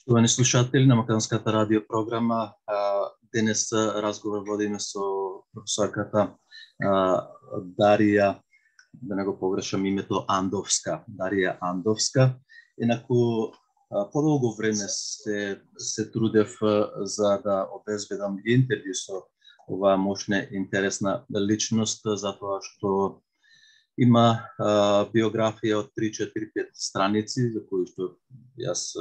Поштовани слушатели на Македонската радио програма, денес разговор водиме со професорката Дарија, да не го погрешам името, Андовска. Дарија Андовска. Инаку, подолго време се трудев за да обезбедам интервју со оваа мощна интересна личност, затоа што има биографија од 3-4-5 страници, за кои што јас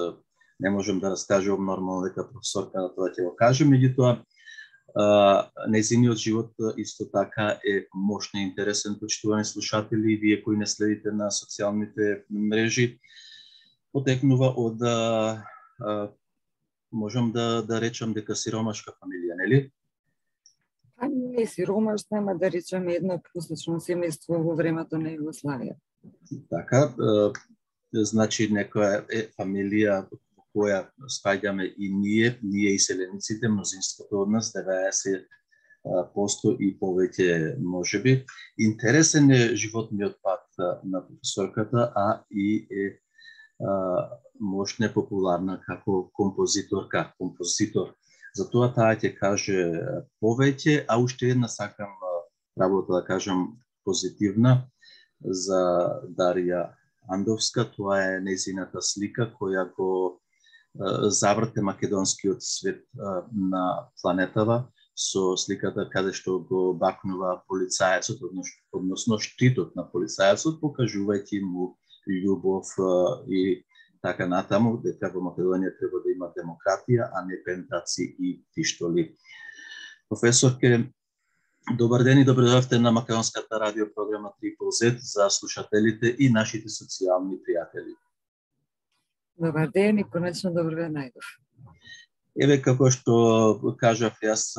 не можем да раскажувам, нормално дека професорка на тоа ќе го каже, меѓутоа нејзиниот живот исто така е мощно интересен, почитувани слушатели, вие кои не следите на социјалните мрежи, потекнува од можам да речам дека сиромашка фамилија, нели? Не сиромашна, ама да речеме едно посечно семејство во времето на Југославија. Така, значи некоја фамилија која спаѓаме и ние иселениците, мнозинството од нас, 90% и повеќе можеби. Интересен е животниот пат на професорката, а и е мощна популарна како композитор. Затоа таа ќе каже повеќе, а уште една сакам работа да кажам позитивна за Дарија Андовска. Тоа е нејзината слика која го заврте македонскиот свет на планетава со сликата каде што го бакнува полицајецот, односно штитот на полицајецот, покажувајќи му љубов и така натаму, дека во Македонија треба да има демократија, а не пентаци и пиштоли. Професорке, добар ден и добре дојдовте на Македонската радио програма Triple Z за слушателите и нашите социјални пријатели. Добар ден и конечно добро ве најдов. Еве, како што кажав, јас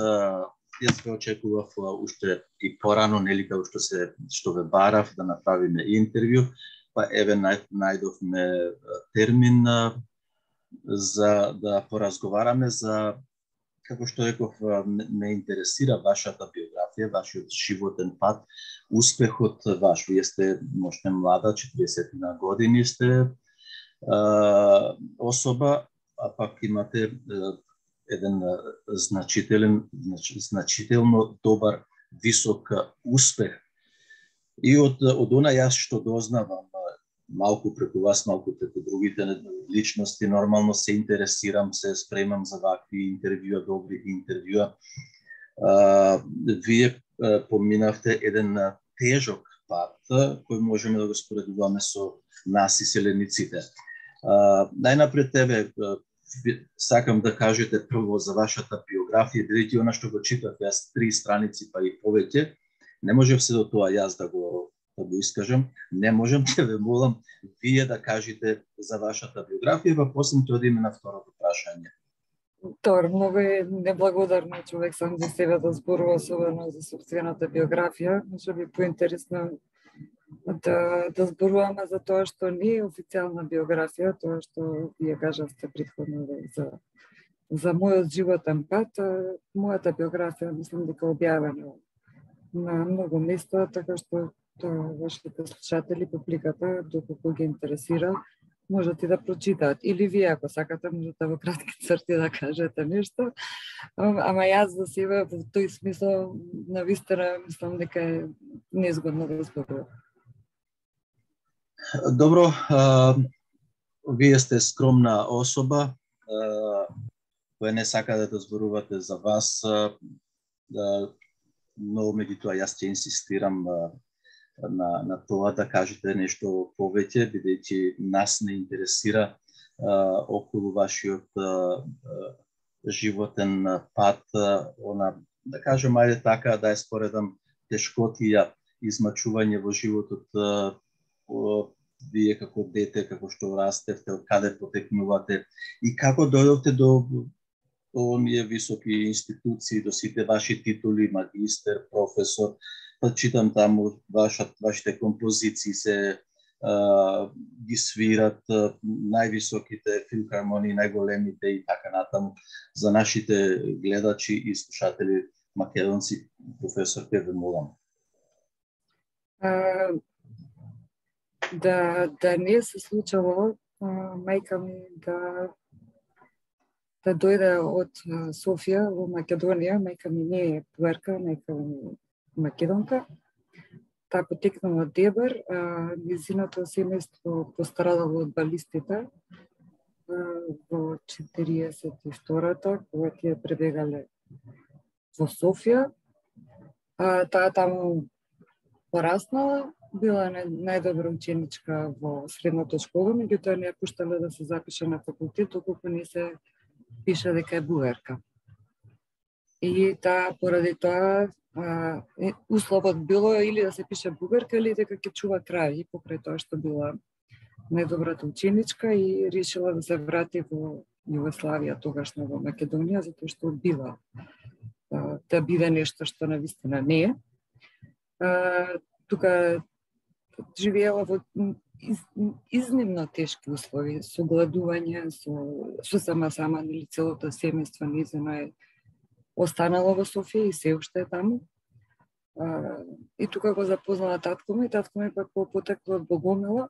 ве очекував уште и порано, нели, како што ве барав да направиме интервју, па еве најдовме термин за да поразговараме за, како што реков, ме интересира вашата биографија, вашиот животен пат, успехот ваш. Вие сте мощна млада, 40 години сте особа, а пак имате еден значително добар, висок успех. И од она јас што дознавам, малку преку вас, малку преку другите личности, нормално се интересирам, се спремам за вакви интервјуа, добри интервјуа. Вие поминавте еден тежок пат, кој можеме да го споредуваме со нас иселениците. Најнапред сакам да кажете прво за вашата биографија, бидејќи она што го читав јас 3 страници па и повеќе, не можев се до тоа јас да го искажам, не можам да ве молам вие да кажете за вашата биографија, па после ќе одиме на второто прашање. Добро, многу е неблагодарно човек сам за себе да зборува, особено за сопствената биографија, може би поинтересно да зборуваме за тоа што не е официјална биографија, тоа што вие кажавте претходно за мојот животен пат. Мојата биографија мислам дека објавена на многу места, така што вашите слушатели, публиката, доколку ги интересира, можете да прочитаат. Или вие, ако сакате, можете во кратки црти да кажете нешто. Ама јас за себе во тој смисол навистина мислам дека е незгодно да зборувам. Добро, вие сте скромна особа, која не сака да зборувате за вас, но меѓутоа јас ќе инсистирам на тоа да кажете нешто повеќе, бидејќи нас не интересира околу вашиот животен пат, да кажем, ајде така, да ја споредам, тешкотија, измачување во животот, вие како дете, како што растевте, од каде потекнувате и како дојдовте до оние високи институции, до сите ваши титули, магистер, професор, па читам таму вашите композиции се ги свират највисоките филхармонии, најголемите и така натаму. За нашите гледачи и слушатели македонци, професор, ке ве молам. Да не се случило мајка ми да Та дојде од Софија во Македонија, мајка ми не е пуерка, мајка ми е македонка. Таа потекнала од Дебар, низиното семејство пострадало од балистите во 42-та, кога тие пребегале во Софија. Таа таму пораснала, била најдобра ученичка во средната школа, меѓутоа не ја пуштале да се запише на факултет, доколку не се пише дека е бугарка. И таа поради тоа условот било или да се пише бугарка или дека ќе чува крави, покрај тоа што била најдобрата ученичка и решила да се врати во Југославија, тогашна во Македонија, затоа што била да биде нешто што навистина не е. Тука живеела во изнемно тешки услови, со гладување, со сама, нели целото семејство низено е останало во Софија и се уште е таму. И тука го запознала татко ми пак потекло од Богомила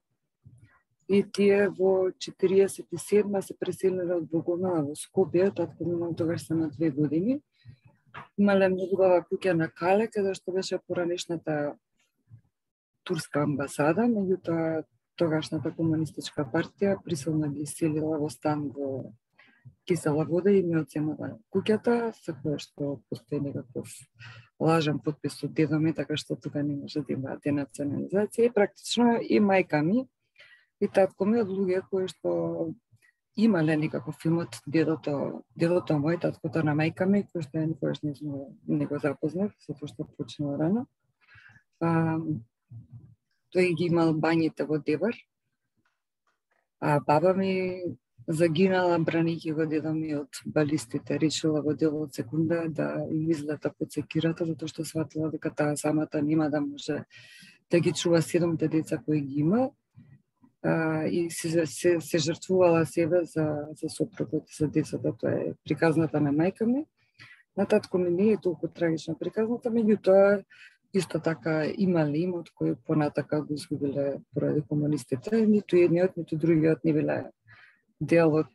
и тие во 47-ма се преселиле од Богомила во Скопје, татко ми тогаш се на 2 години. Имале многу убава куќа на Кале, каде што беше поранешната турска амбасада, меѓутоа тогашната комунистичка партија присилно ги иселила во стан во Кисела Вода и ми оценила куќата, со која што постои некаков лажен потпис од дедо ми, така што тука не може да има денационализација. И практично и мајка ми и татко ми од луѓе кои што имале некаков имот, дедото мој, таткото на мајка ми, кој што ја никогаш не го запознав, затоа што почнала рано. Тој ги имал бањите во Дебар, а баба ми загинала бранејќи го дедо ми од балистите, решила во делот секунда да им излета под секирата, затоа што сватила дека таа самата нема да може да ги чува 7 деца кои ги има, и се жртвувала себе за сопругот и за децата. Тоа е приказната на мајка ми. На татко ми не е толку трагична приказната, меѓутоа исто така имале имот кој понатака го изгубиле поради комунистите. Ниту едниот, ниту другиот не биле дел од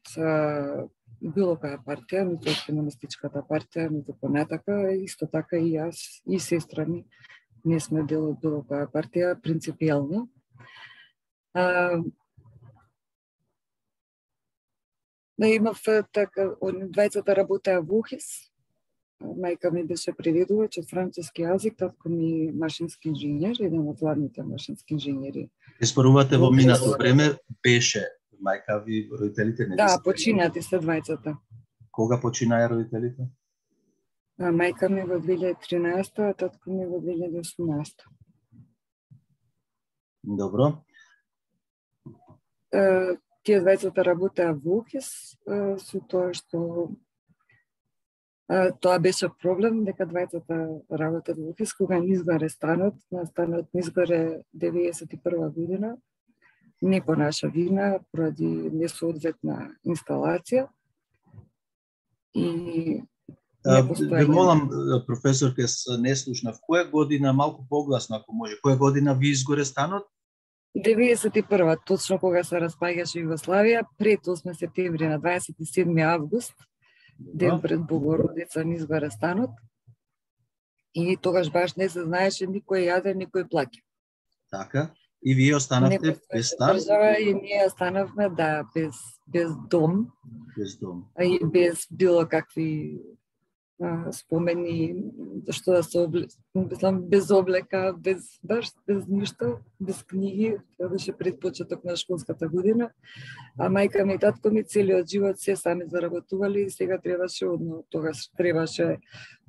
било која партија, ниту од комунистичката партија, ниту понатака. Исто така и јас и сестра ми не сме дел од било која партија, принципијално. Имав така, двајцата работеа во ОХИС. Мајка ми беше преведувач од француски јазик, татко ми машински инженер, еден од главните машински инженери. Спорувате во минато време беше мајка ви, родителите не? Да, починати се двајцата. Кога починаја родителите? Мајка ми во 2013, а татко ми во 2018. Добро. Тие двајцата работеа во ОХИС, со тоа што тоа беше проблем, дека двајцата работат во ОХИС, кога не изгоре станот, станот не изгоре 91 година, не по наша вина, поради несоодветна инсталација. И ве молам, професор, ке не слушнав, која година, малку погласно ако може, која година ви изгоре станот? 91-а, точно кога се распаѓаше Југославија, пред 8 септември, на 27 август, ден пред Богородица, ни изгоре станот. И тогаш баш не се знаеше, никој јаде, никој плаќа. Така, и вие останавте без стан? И ние останавме, да, без дом. Без дом. И без било какви спомени, што да се без облека, без ништо, без книги. Това беше пред почеток на школската година. А мајка ми и татко ми целиот живот се сами заработували и сега тогаш требаше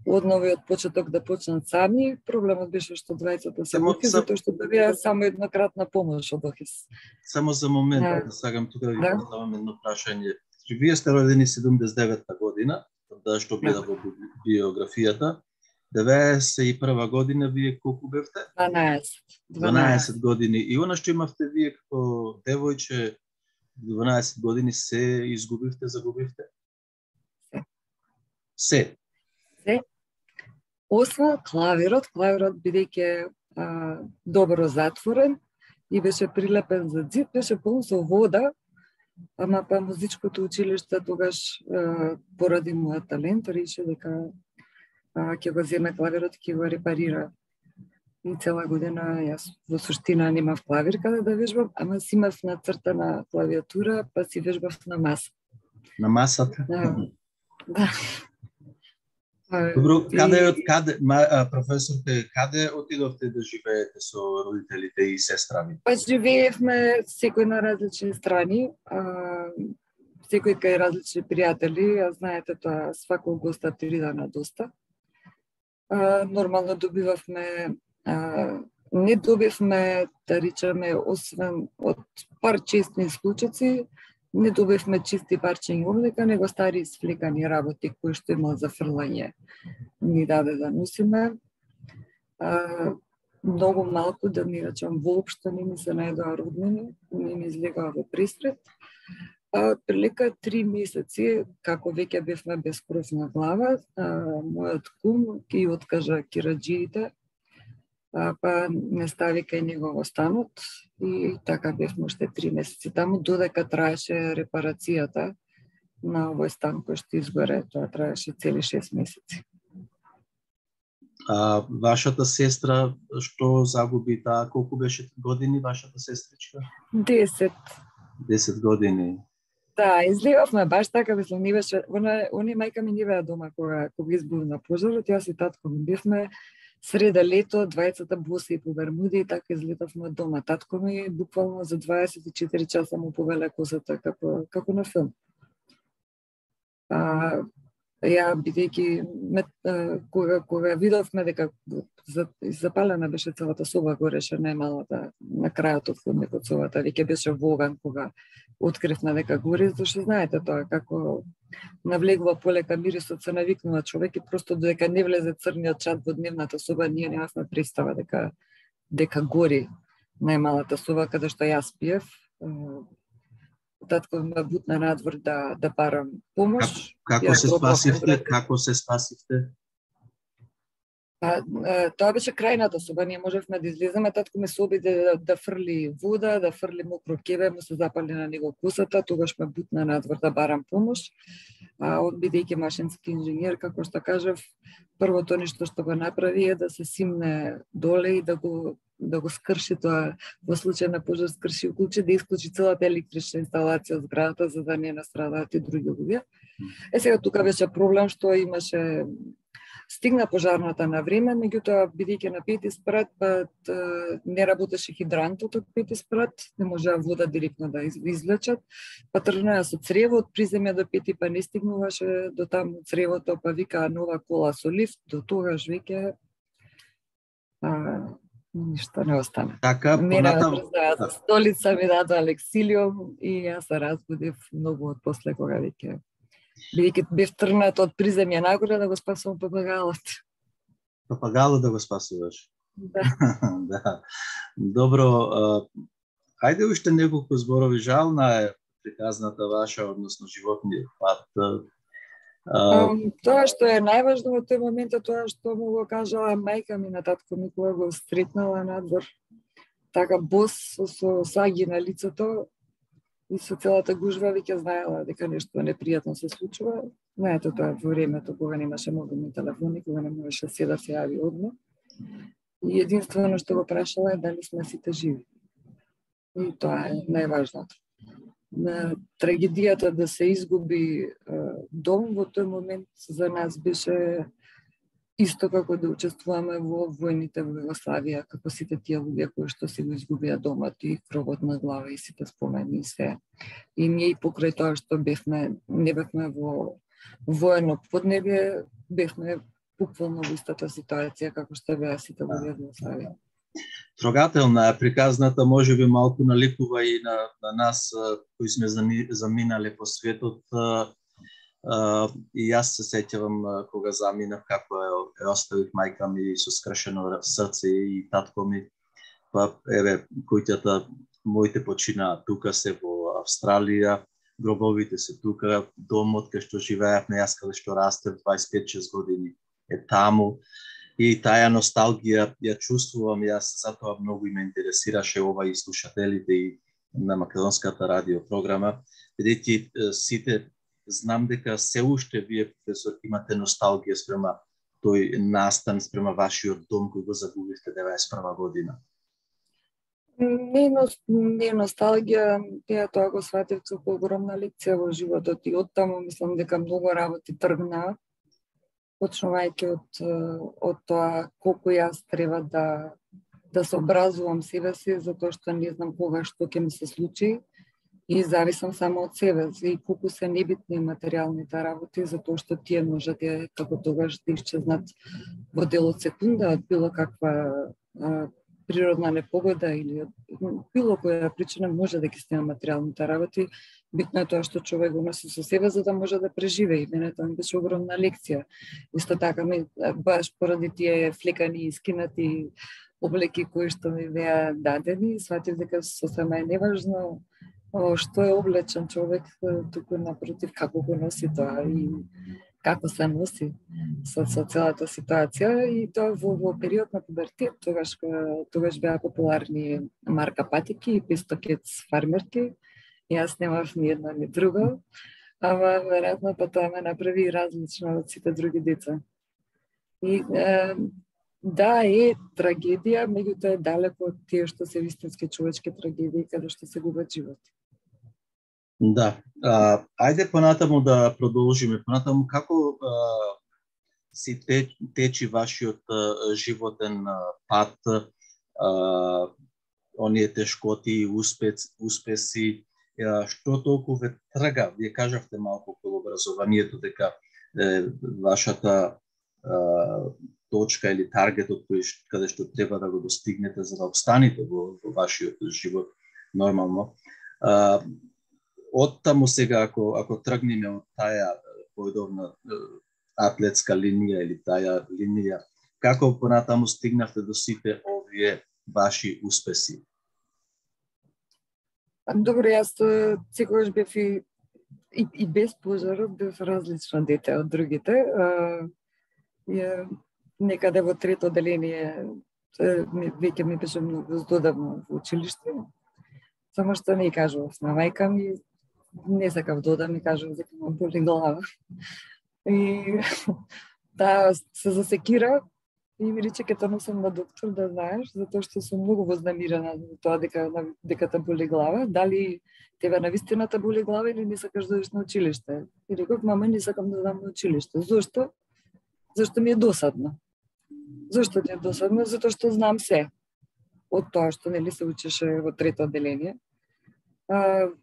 одново и од почеток да почнат сами. Проблемот беше што двајцата се во ОХИС, затоа што добија само еднократна помош од ОХИС. Само за момент, да сакам тука да ви поставам едно прашање. Вие сте родени 79-та година, да што гледа во биографијата. 91 година вие колку бевте? 12 години. И она што имавте вие како девојче 12 години се изгубивте, загубивте? Се. Освен клавирот бидејќи добро затворен и беше прилепен за зид, беше полн со вода Ама па музичкото училиште тогаш поради мојот талент реши дека ќе го земе клавирот, ќе го репарира. И цела година јас во суштина немав клавир каде да вежбам, ама си имав нацртана клавиатура, па си вежбав на маса. На масата? Да. Добро, професорке, каде отидовте да живеете со родителите и сестрави? Па живеевме секој на различни страни, секој кај различни пријатели, а знаете тоа, сваког госта 3 дана доста. Нормално добивавме, не добивме, да речеме, освен од пар честни случаи, не добивме чисти парчиња облека, него стари сфлекани работи кои што имал за фрлање ни даде да носиме. Многу малку, да не речам, воопшто не ми се најдоа роднини, не ми излегоа во пресред. Прилика 3 месеци, како веќе бевме без кров на глава, мојот кум ги откажа кираџиите, па не стави кај него во станот и така бевме уште 3 месеци таму, додека траеше репарацијата на овој стан кој што изгоре, тоа траеше цели 6 месеци. Вашата сестра што загуби таа, колку беше години вашата сестричка? 10. 10 години. Да, излегавме баш така, мислам, не беше, они мајка ми не беа дома кога избувна пожарот, јас и татко ми бевме среда лето, двајцата боси по Бермуди и така излетавме од дома. Татко ми буквално за 24 часа му повеле косата како на филм. Ја бидејќи кога видовме дека запалена беше целата соба, гореше најмалата на крајот од ходникот собата, веќе беше во оган кога откривме дека гори, зашто знаете тоа како навлегува полека мирисот, се навикнува човек и просто додека не влезе црниот чад во дневната соба, ние немавме представа дека гори најмалата соба каде што јас пиев. Татко ме бутна надвор да барам помош. Како се спасивте? Тоа беше крајната соба, ние можевме да излеземе, татко ме се обиде да фрли вода, да фрли мокро кебе, му се запали на него косата, тогаш ме бутна надвор да барам помош. Бидејќи машински инженер, како што кажав, првото нешто што го направи е да се симне доле и да го скрши тоа, во случај на пожар скрши уклучи, да исклучи целата електрична инсталација од зградата за да не настрадаат и други луѓе. Сега тука беше проблем што имаше стигна пожарната на време, меѓутоа бидејќи на 5 спрат не работеше хидрантот од 5 спрат, не можеа вода директно да извлечат, па тргнаа со цревот, приземја до 5 па не стигнуваше до таму цревото, па викаа нова кола со лифт, до тогаш веќе ништо не остана. Така, понатаму за столица ми дадоа лексилиум и јас се разбудив многу од после кога веќе бидејќи бев тргнат од приземја нагоре да го спасувам папагалот. Папагалот да го спасуваш? Да. Да. Добро, ајде уште неколку зборови, жална е приказната ваша, односно животниот пат. Тоа што е најважно во тој момент е тоа што му го кажала мајка ми на татко ми кога го сретнала надвор, така бос со саги на лицето и со целата гужва веќе знаела дека нешто непријатно се случува. Знаете тоа во времето кога немаше мобилни телефони, кога не можеше се да се јави одма. И единствено што го прашала е дали сме сите живи. И тоа е најважното. На трагедијата да се изгуби дом во тој момент за нас беше исто како да учествуваме во војните во Југославија, како сите тие луѓе кои што си го изгубија домот и кровот на глава и сите спомени и се. И ние и покрај тоа што не бевме во воено поднебје, бевме буквално во истата ситуација како што беа сите луѓе во Југославија. Трогателна е приказната, можеби малку наликува и на нас кои сме заминале по светот. И јас се сеќавам кога заминав како е оставив мајка ми со скршено срце и татко ми. Па еве куќата моите починаа тука се во Австралија, гробовите се тука, домот кај што живеевме јас каде што растев 25-6 години е таму. И таа носталгија ја чувствувам јас, затоа многу ме интересираше ова и слушателите на македонската радио програма, бидејќи сите знам дека се уште вие, професор, имате носталгија спрема тој настан, спрема вашиот дом кој го загубивте 91 година. Не е носталгија, тоа го сватив како огромна лекција во животот и оттаму мислам дека многу работи тргнаа, почнувајќи од тоа колку јас треба да се образувам себе си, затоа што не знам кога што ќе ми се случи и зависам само од себе и колку се небитни материјалните работи, затоа што тие можат како тогаш да исчезнат во дел од секунда од било каква природна непогода или било која причина може да ги снема материјалните работи. Битно е тоа што човек го носи со себе за да може да преживее. Мене тоа ми беше огромна лекција. Исто така баш поради тие флекани и скинати облеки кои што ми беа дадени, сватив дека сосема е неважно што е облечен човек, туку напротив како го носи тоа и како се носи со целата ситуација. И тоа во период на пубертет, тогаш беа популарни марка патики и пистокец фармерки. Јас немав ни една ни друга, ама веројатно па тоа ме направи различно од сите други деца. И да, е трагедија, меѓутоа е далеко од тие што се вистински човечки трагедии каде што се губат животи. Да. Ајде понатаму да продолжиме. Понатаму како си течи вашиот животен пат, оние тешкоти и успеси, што толку ве трга? Вие кажавте малку околу образованието дека вашата точка или таргетот каде што треба да го достигнете за да обстанете во вашиот живот нормално. Оттаму сега, ако тргнеме од таа поедовна атлетска линија или таа линија, како понатаму стигнавте до сите овие ваши успеси? Добро, јас секогаш бев и без пожарот бев различно дете од другите. Некаде во трето оделение веќе ми беше многу здодавно во училиште. Само што не кажував на мајка ми, не сакав да одам, ми кажував дека ме боли глава. И таа се засекира и ми рече ќе те носам на доктор да знаеш, затоа што сум многу вознамирена за тоа дека те боли глава. Дали тебе навистина те боли глава или не сакаш да одиш на училиште? И реков, мама, не сакам да одам на училиште. Зошто? Зашто ми е досадно. Зошто ти е досадно? Затоа што знам се од тоа што нели се учеше во трето оделение.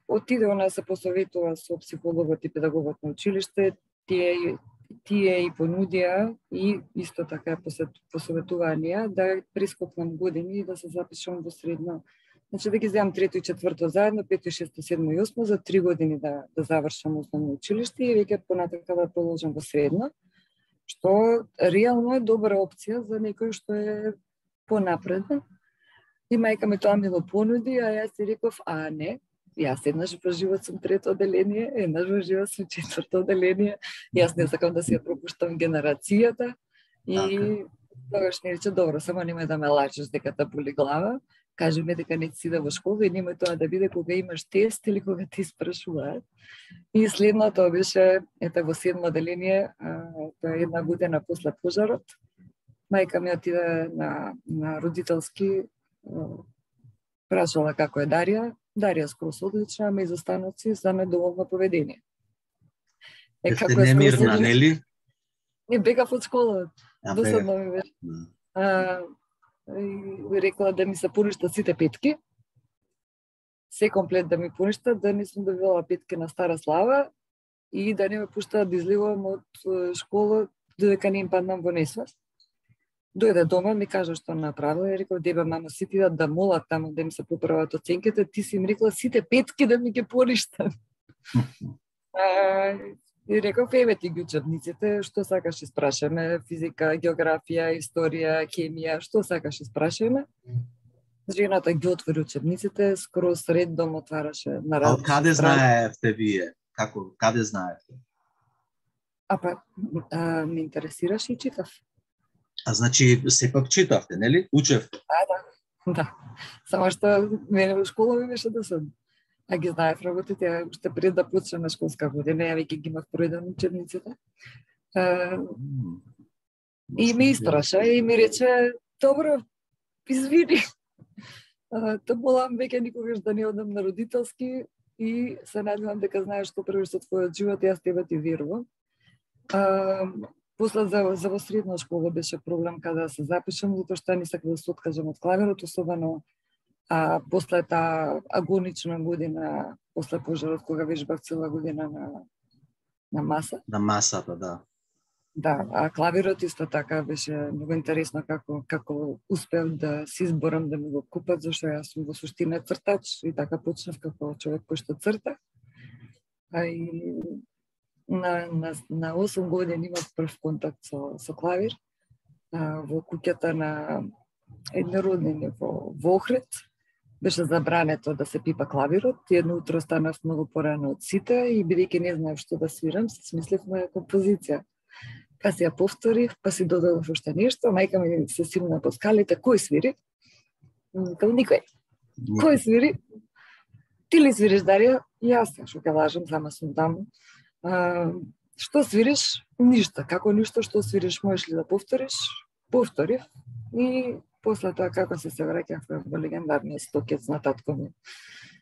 Отиде она се посоветува со психологот и педагогот на училиште, тие и понудија и исто така посоветувања да прескокнам години и да се запишам во средно. Значи да ги земам трето и четврто заедно, пето и шесто, седмо и осмо за 3 години да завршам основно училиште и веќе понатака да продолжам во средно, што реално е добра опција за некој што е понапреден. И мајка ми тоа ми го понуди, а јас си реков, не, јас еднаш во живот сум трето оделение, еднаш во живот сум четврто оделение, јас не сакам да си ја пропуштам генерацијата и тогаш ми рече, добро, само немој да ме лажеш дека те боли глава, кажи ми дека не си да во школа и немој тоа да биде кога имаш тест или кога ти спрашуваат. И следно тоа беше, во седмо оделение, тоа е 1 година после пожарот, мајка ми отиде на родителски, прашала како е Дарија скрос одлична, ама и за станоци за недоволно поведение. Како е немирна, нели? Не бегав од школа, досадно ми беше. И рекла да ми се поништа сите петки, се комплет да ми поништа, да не сум добила петки на стара слава и да не ме пуштаат да излегувам од школа додека не им паднам во несвест. Дојде дома, ми кажа што направила и рекол, дебе, мамо, сите идат да молат таму да им се поправат оценките, ти си им рекла сите петки да ми ги поништат. И реков, ти ги учебниците, што сакаш испрашаме, физика, географија, историја, хемија, што сакаш испрашаме. Жената ги отвори учебниците, скроз редом отвараше на различни. А каде знаевте вие? Каде знаевте? Ме интересираше и читав. Значи, сепак читавте, нели? Учевте? Да. Само што мене во школа ми беше досадно. а ги знаев работите, уште пред да почнеме школска година, ја веќе ги имав проеден учебниците. И ме испраша и ми рече, добро, извини. Молам веќе никогаш да не одам на родителски и се надевам дека знаеш што правиш со твојот живот и јас тебе ти верувам. После за во средна школа беше проблем каде да се запишам, затоа што не сакав да се откажам од клавирот, особено после таа агонична година, после пожарот, кога вежбав цела година на маса. На масата, да. Да, а клавирот исто така беше многу интересно како успев да се изборам да ми го купат, зашто јас сум во суштина цртач и така почнав како човек кој што црта. И на 8 години имав прв контакт со клавир во куќата на едни роднини во Охрид. Беше забрането да се пипа клавирот. Едно утро станав многу порано од сите и бидејќи не знаев што да свирам, се смислевме композиција. Па си ја повторив, па си додадов уште нешто, мајка ми се силна по скалите, кој свири? Као никој. Кој свири? Ти ли свириш, Дарија? Јас, што ќе лажам, сама сум таму. Што свириш? Ништо. Како ништо, што свириш, можеш ли да повториш? Повторив. И после тоа, како се враќавме во легендарниот стокец на татко ми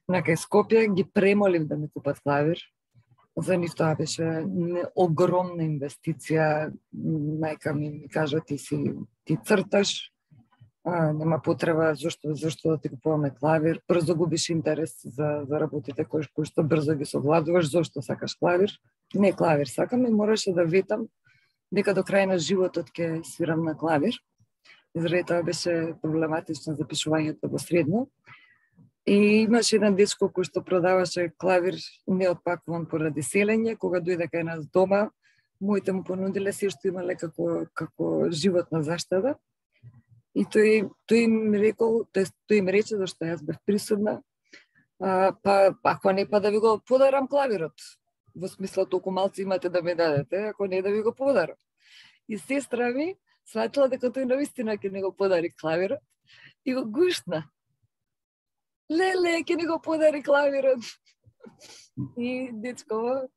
на кај Скопје, ги премолив да ми купат клавир. За нив тоа беше огромна инвестиција. Мајка ми кажа, ти црташ, нема потреба зашто да ти купуваме клавир. Брзо губиш интерес за работите кои што брзо ги совладуваш, зашто сакаш клавир. Не клавир сакам и мораше да ветам дека до крај на животот ќе свирам на клавир. Заради тоа беше проблематично запишувањето во средно. И имаше еден дечко кој што продаваше клавир неотпакуван поради селење. Кога дојде кај нас дома, моите му понудиле се што имале како животна заштеда. И тој им рече зашто јас бев присутна, па ако не па да ви го подарам клавирот. Во смисла толку малци имате да ме дадете, ако не да ви го подарам. И сестра ми сватила дека тој навистина ќе не го подари клавирот и го гушна. Леле, ќе ни го подари клавирот. И дечко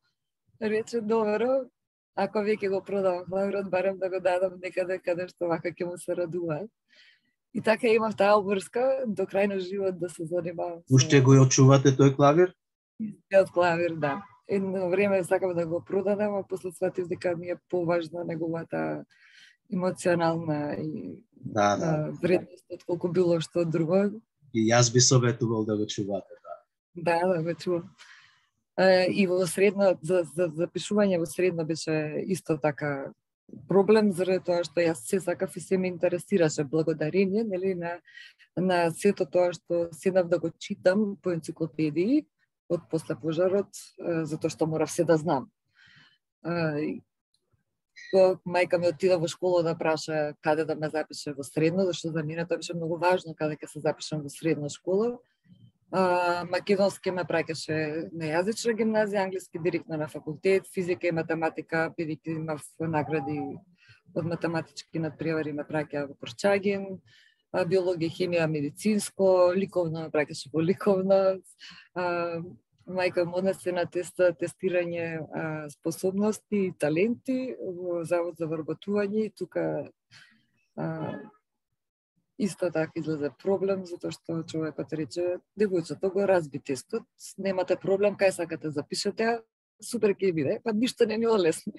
рече, добро, ако веќе го продавам клавирот, барем да го дадам некаде каде што вака ќе му се радуваат. И така имав таа обврска до крај на живот да се занимавам. Уште го очувате тој клавир? Од клавир, да. Едно време сакав да го продадам, а после сватив дека ми е поважна неговата емоционална и вредност отколку било што друго. И јас би советувал да го чувате, да. Да, го чувам. И во средно, за запишување во средно беше исто така проблем, заради тоа што јас се сакав и се ме интересираше благодарение, нели, на сето тоа што седнав да го читам по енциклопедии од после пожарот, затоа што морав се да знам. Мајка ми отида во школа да праша каде да ме запише во средно, зашто за мене тоа беше многу важно каде ќе се запишам во средна школа. Македонски ме праќаше на јазична гимназија, англиски директно на факултет, физика и математика, бидејќи имав награди од математички надпревари ме праќа во Корчагин, биологија, хемија, медицинско, ликовно ме праќаше во ликовно. Мајка ме однесе на тестирање способности и таленти во Завод за вработување и тука исто така излезе проблем, затоа што човекот рече, девојчето го разби тестот, немате проблем, кај сакате запишете, супер ќе биде, па ништо не ми олесни.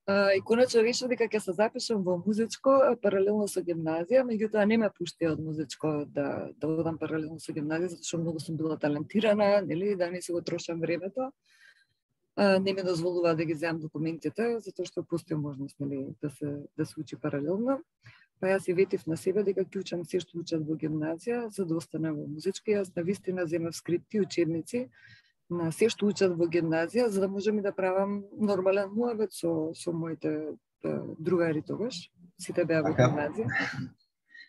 И конечно решив дека ќе се запишам во музичко паралелно со гимназија, меѓутоа не ме пушти од музичко да одам паралелно со гимназија, затоа што многу сум била талентирана, нели, да не си го трошам времето. Не ми дозволува да ги земам документите, затоа што постои можност, нели, да се учи паралелно. Па јас и ветив на себе дека ќе учам се што учат во гимназија, за да останам во музичка. Јас навистина земав скрипти, учебници на се што учат во гимназија, за да можам и да правам нормален муабет со моите другари тогаш. Сите беа во гимназија.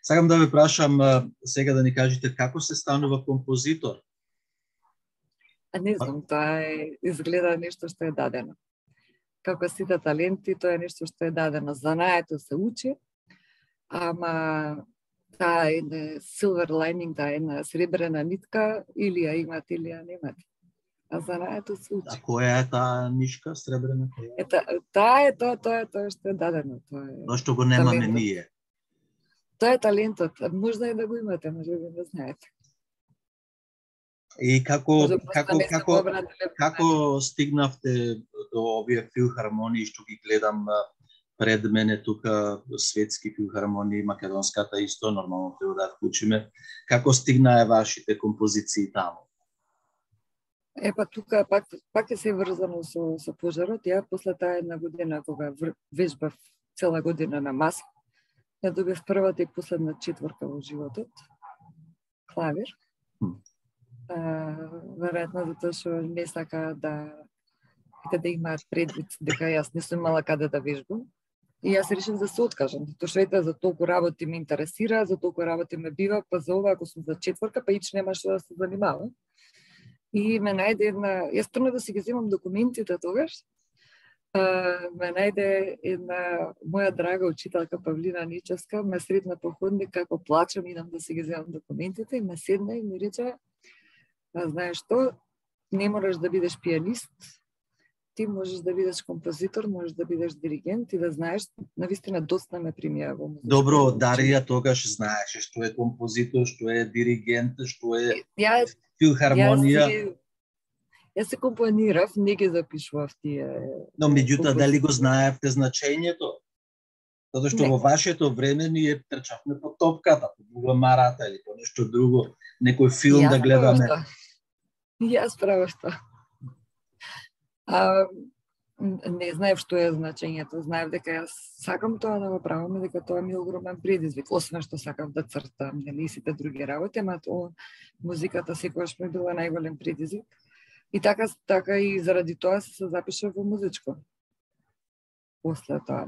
Сакам да ве прашам сега да ни кажете како се станува композитор? Не знам, тоа изгледа нешто што е дадено. Како сите таленти, тоа е нешто што е дадено. Знаеето се учи, ама таа е silver lining, таа една сребрена нитка, или ја имате или ја немате. А занаето се учи. А која е таа нишка сребрена? Таа е тоа што е дадено, тоа е. Тоа што го немаме талентот. ние. Тоа е талентот, можда и да го имате, може би не знаете. И како стигнавте до овие филхармонии што ги гледам пред мене тука, светски филхармонии, македонската исто, нормално треба да вклучиме. Како стигнаа вашите композиции таму? Епа тука пак е се врзано со пожарот. Ја после таа една година кога вежбав цела година на маса, ја добив првата и последна четворка во животот. Клавир. Веројатно затоа што не сака да имаат предвид дека јас не сум имала каде да вежбам. И јас решив да се откажам, затоа што ете за толку работи ме интересира, за толку работи ме бива, па за ова ако сум за четворка, па ич нема што да се занимавам. И ме најде една, јас тргнав да си ги земам документите тогаш, ме најде една моја драга учителка Павлина Ничевска, ме сретна по ходник како плачам, идам да си ги земам документите и ме седна и ми рече: знаеш што, не мораш да бидеш пианист, ти можеш да бидеш композитор, можеш да бидеш диригент и да знаеш, навистина доста ме примија во музика. Добро, Дарија тогаш знаеше што е композитор, што е диригент, што е филхармонија. Јас се компонирав, не ги запишував тие. Но меѓутоа дали го знаевте значењето? Затоа што во вашето време ние трчавме по топката, по булеварата или по нешто друго, некој филм да гледаме. Јас право што. Не знаев што е значењето, знаев дека јас сакам тоа да го правам и дека тоа ми е огромен предизвик, освен што сакав да цртам, нели сите други работи, ама музиката секогаш ми била најголем предизвик. И така и заради тоа се запишав во музичко. После тоа.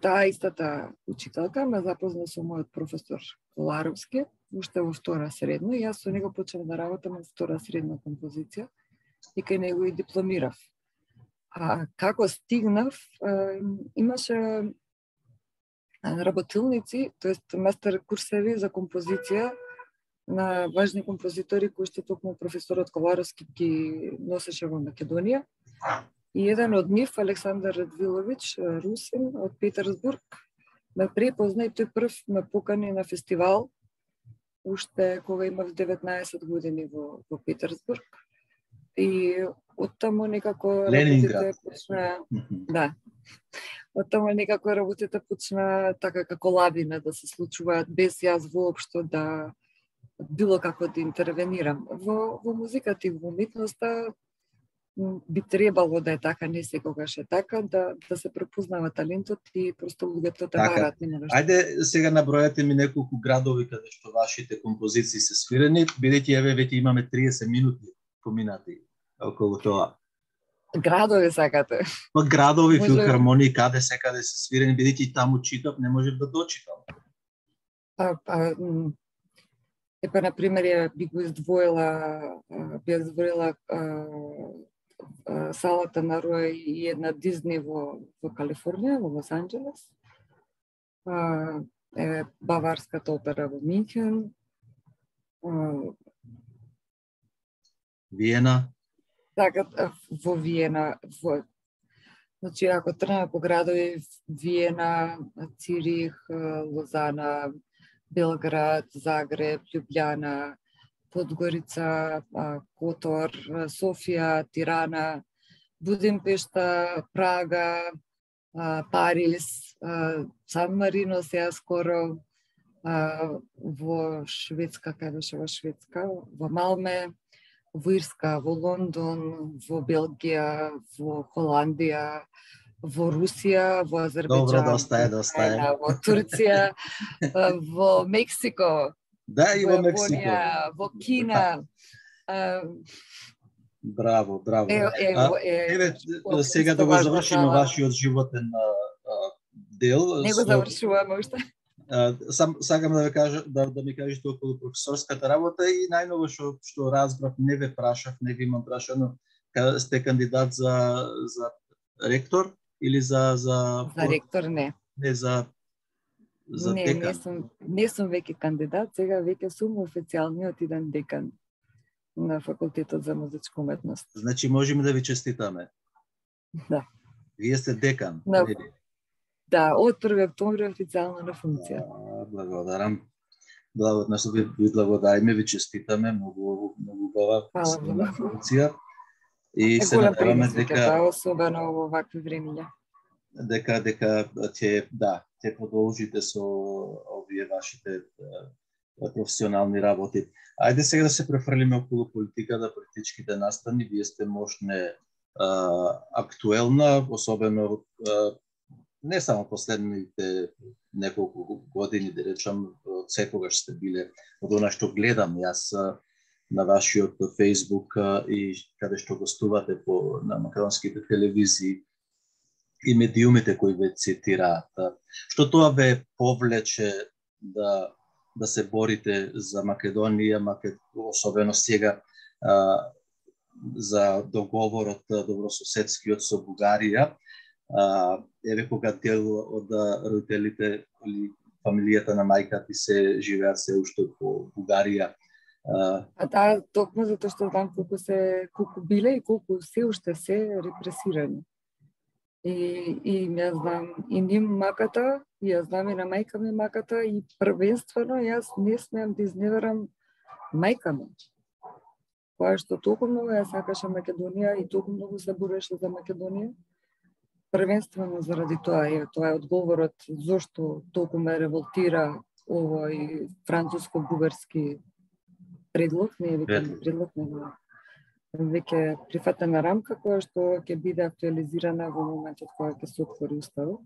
Таа истата учителка ме запозна со мојот професор Коларовски, уште во втора средно, и јас со него почнав да работам во втора средна композиција и кај него и дипломирав. А како стигнав, имаше работилници, тоест мастер курсеви за композиција на важни композитори кои што токму професорот Коларовски ги носеше во Македонија. И еден од нив, Александар Радвилович, русин од Петерсбург, ме препозна и тој прв ме покани на фестивал, уште кога имав 19 години во Петерсбург. И оттаму некако работите почна, да. Оттаму некако работите почна така како лавина да се случуваат без јас воопшто да било како да интервенирам. Во музиката и во уметноста би требало да е така, не секогаш е така, да се препознава талентот и просто луѓето те бараат. Ајде сега набројате ми неколку градови каде што вашите композиции се свирени, бидејќи еве веќе имаме 30 минути поминати околу тоа. Градови сакате? Па градови, филхармонии, каде секаде се свирени, бидејќи таму читав, не можев да дочитам. Епа, например, ја би го издвоила салата на Рој и една Дизни во Калифорнија, во Лос Анџелес. Баварската опера во Минхен. Виена. Така, во Виена. Значи, ако тргнеме по градови, Виена, Цирих, Лозана, Белград, Загреб, Љубљана, Подгорица, Котор, Софија, Тирана, Будимпешта, Прага, Париз, Сан Марино сега скоро, во Шведска, кај беше во Шведска, во Малме, во Ирска, во Лондон, во Белгија, во Холандија, во Русија, во Азербејџан, во Турција, во Мексико, да, и во Мексико, во Кина. Браво. Еве, сега да го завршиме вашиот животен дел. Не го завршуваме уште. Сакам да ви кажа, да ми кажете околу професорската работа и најново што разбрав, не ве прашав, не ви имам прашано, сте кандидат за ректор или за ректор не. Не за за декан? Не сум веќе кандидат, сега веќе сум официјалниот иден декан на факултетот за музичка уметност. Значи можеме да ви честитаме. Да. Вие сте декан, нели? Да, од 1 октомври официјално на функција. Благодарам. Односно ви благодариме, ви честитаме, многу убава функција. И се надеваме дека особено во вакви времиња. Дека ќе продолжите со овие вашите професионални работи. Ајде сега да се префрлиме околу политиката, политичките настани. Вие сте можне актуелна, особено не само последните неколку години, да речам, секогаш сте биле од она што гледам јас на вашиот Facebook и каде што гостувате на македонските телевизии и медиумите кои ве цитираат. Што тоа ве повлече да се борите за Македонија, особено сега за договорот добрососедскиот со Бугарија, еве кога дел од родителите или фамилијата на мајка ти се живеат се уште по Бугарија. Токму затоа што знам колку биле и колку се уште се репресирани. И ја знам и ним маката, и ја знам и на мајка ми маката, и првенствено јас не смеам да изневерам мајка ми. Која што толку многу ја сакаше Македонија и толку многу се бореше за Македонија. Првенствено заради тоа е одговорот зошто толку ме револтира овој француско-бугарски предлог, не е веќе предлог, него веќе прифатена рамка која што ќе биде актуализирана во моментот кога ќе се отвори уставот.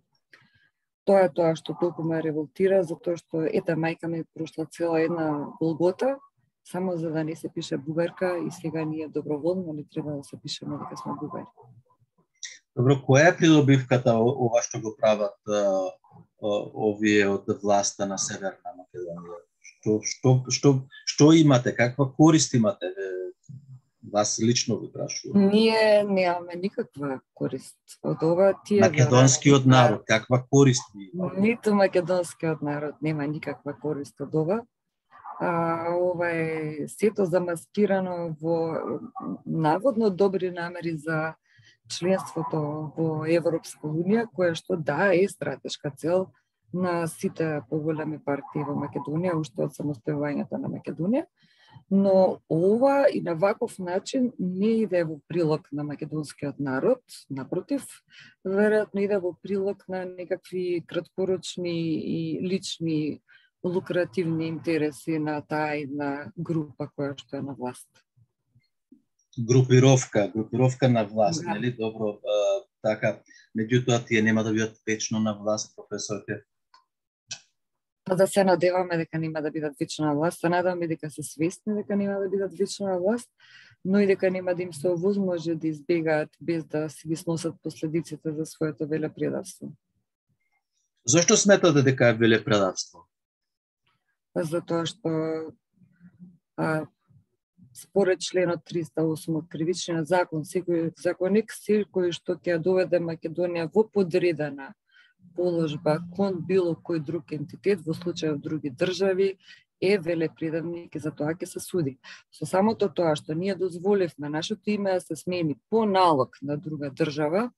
Тоа е тоа што толку ме револтира, затоа што мајка ми прошла цела една голгота, само за да не се пише бугарка и сега ние доброволно не треба да се пишеме дека сме бугари. Добро, која е придобивката ова што го прават овие од власта на Северна Македонија? Што имате, каква корист имате? Вас лично ви прашувам. Ние немаме никаква корист од ова. Македонскиот народ, каква корист има? Ниту македонскиот народ нема никаква корист од ова. Ова е сето замаскирано во наводно добри намери за членството во Европска унија, која што е стратешка цел на сите поголеми партии во Македонија, уште од самостојувањето на Македонија. Но ова и на ваков начин не иде во прилог на македонскиот народ, напротив, веројатно иде во прилог на некакви краткорочни и лични лукративни интереси на таа една група која што е на власт. Групировка на власт, нели? Добро, така, меѓутоа тие нема да бидат вечно на власт, професорке? Да се надеваме дека нема да бидат вечно на власт, се надеваме дека се свесни дека нема да бидат вечно на власт, но и дека нема да им се овозможи да избегаат без да си ги сносат последиците за своето велепредавство. Зошто сметате дека е велепредавство? Затоа што според членот 308 од Кривичниот закон, секој законник секој што ќе доведе Македонија во подредена положба кон било кој друг ентитет, во случај други држави, е велепредавник и за тоа ќе се суди. Со самото тоа што ние дозволивме нашето име да се смени по налог на друга држава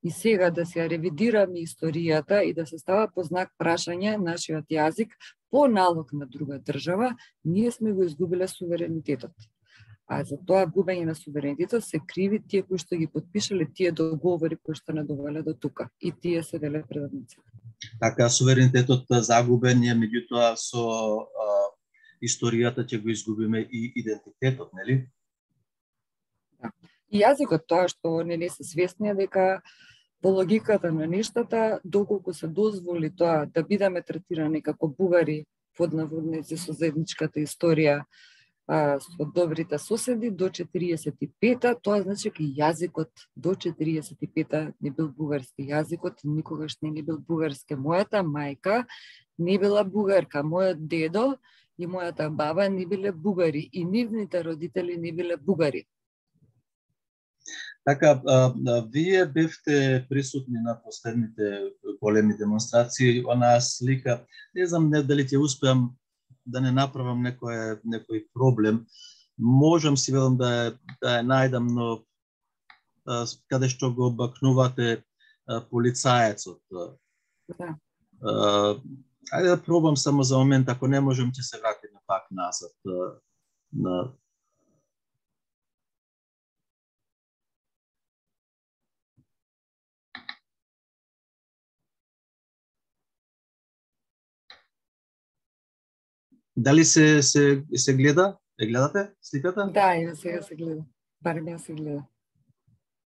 и сега да се ревидираме историјата и да се става по знак прашање нашиот јазик по налог на друга држава, ние сме го изгубиле суверенитетот. А за тоа губење на суверенитетот се криви тие кои што ги подпишале тие договори кои што не довеле до тука. И тие се велепредавници. Така, суверенитетот загубен е, меѓутоа со историјата ќе го изгубиме и идентитетот, нели? Да. И јазикот, тоа што не се свесни дека по логиката на нештата, доколку се дозволи тоа да бидеме третирани како бугари под наводници со заедничката историја, со добрите соседи до 45-та, тоа значи дека јазикот до 45-та не бил бугарски. Јазикот никогаш не бил бугарски. Мојата мајка не била бугарка, мојот дедо и мојата баба не биле бугари и нивните родители не биле бугари. Така, вие бевте присутни на последните големи демонстрации, онаа слика, не знам дали ќе успеам да не направам некој проблем, можам си велам да ја најдам, но каде што го бакнувате полицаецот. Да. Ајде да пробам само за момент, ако не можам ќе се вратиме пак назад на Дали се гледа? Е гледате сликата? Да, и сега се гледа. Барем ја се гледа.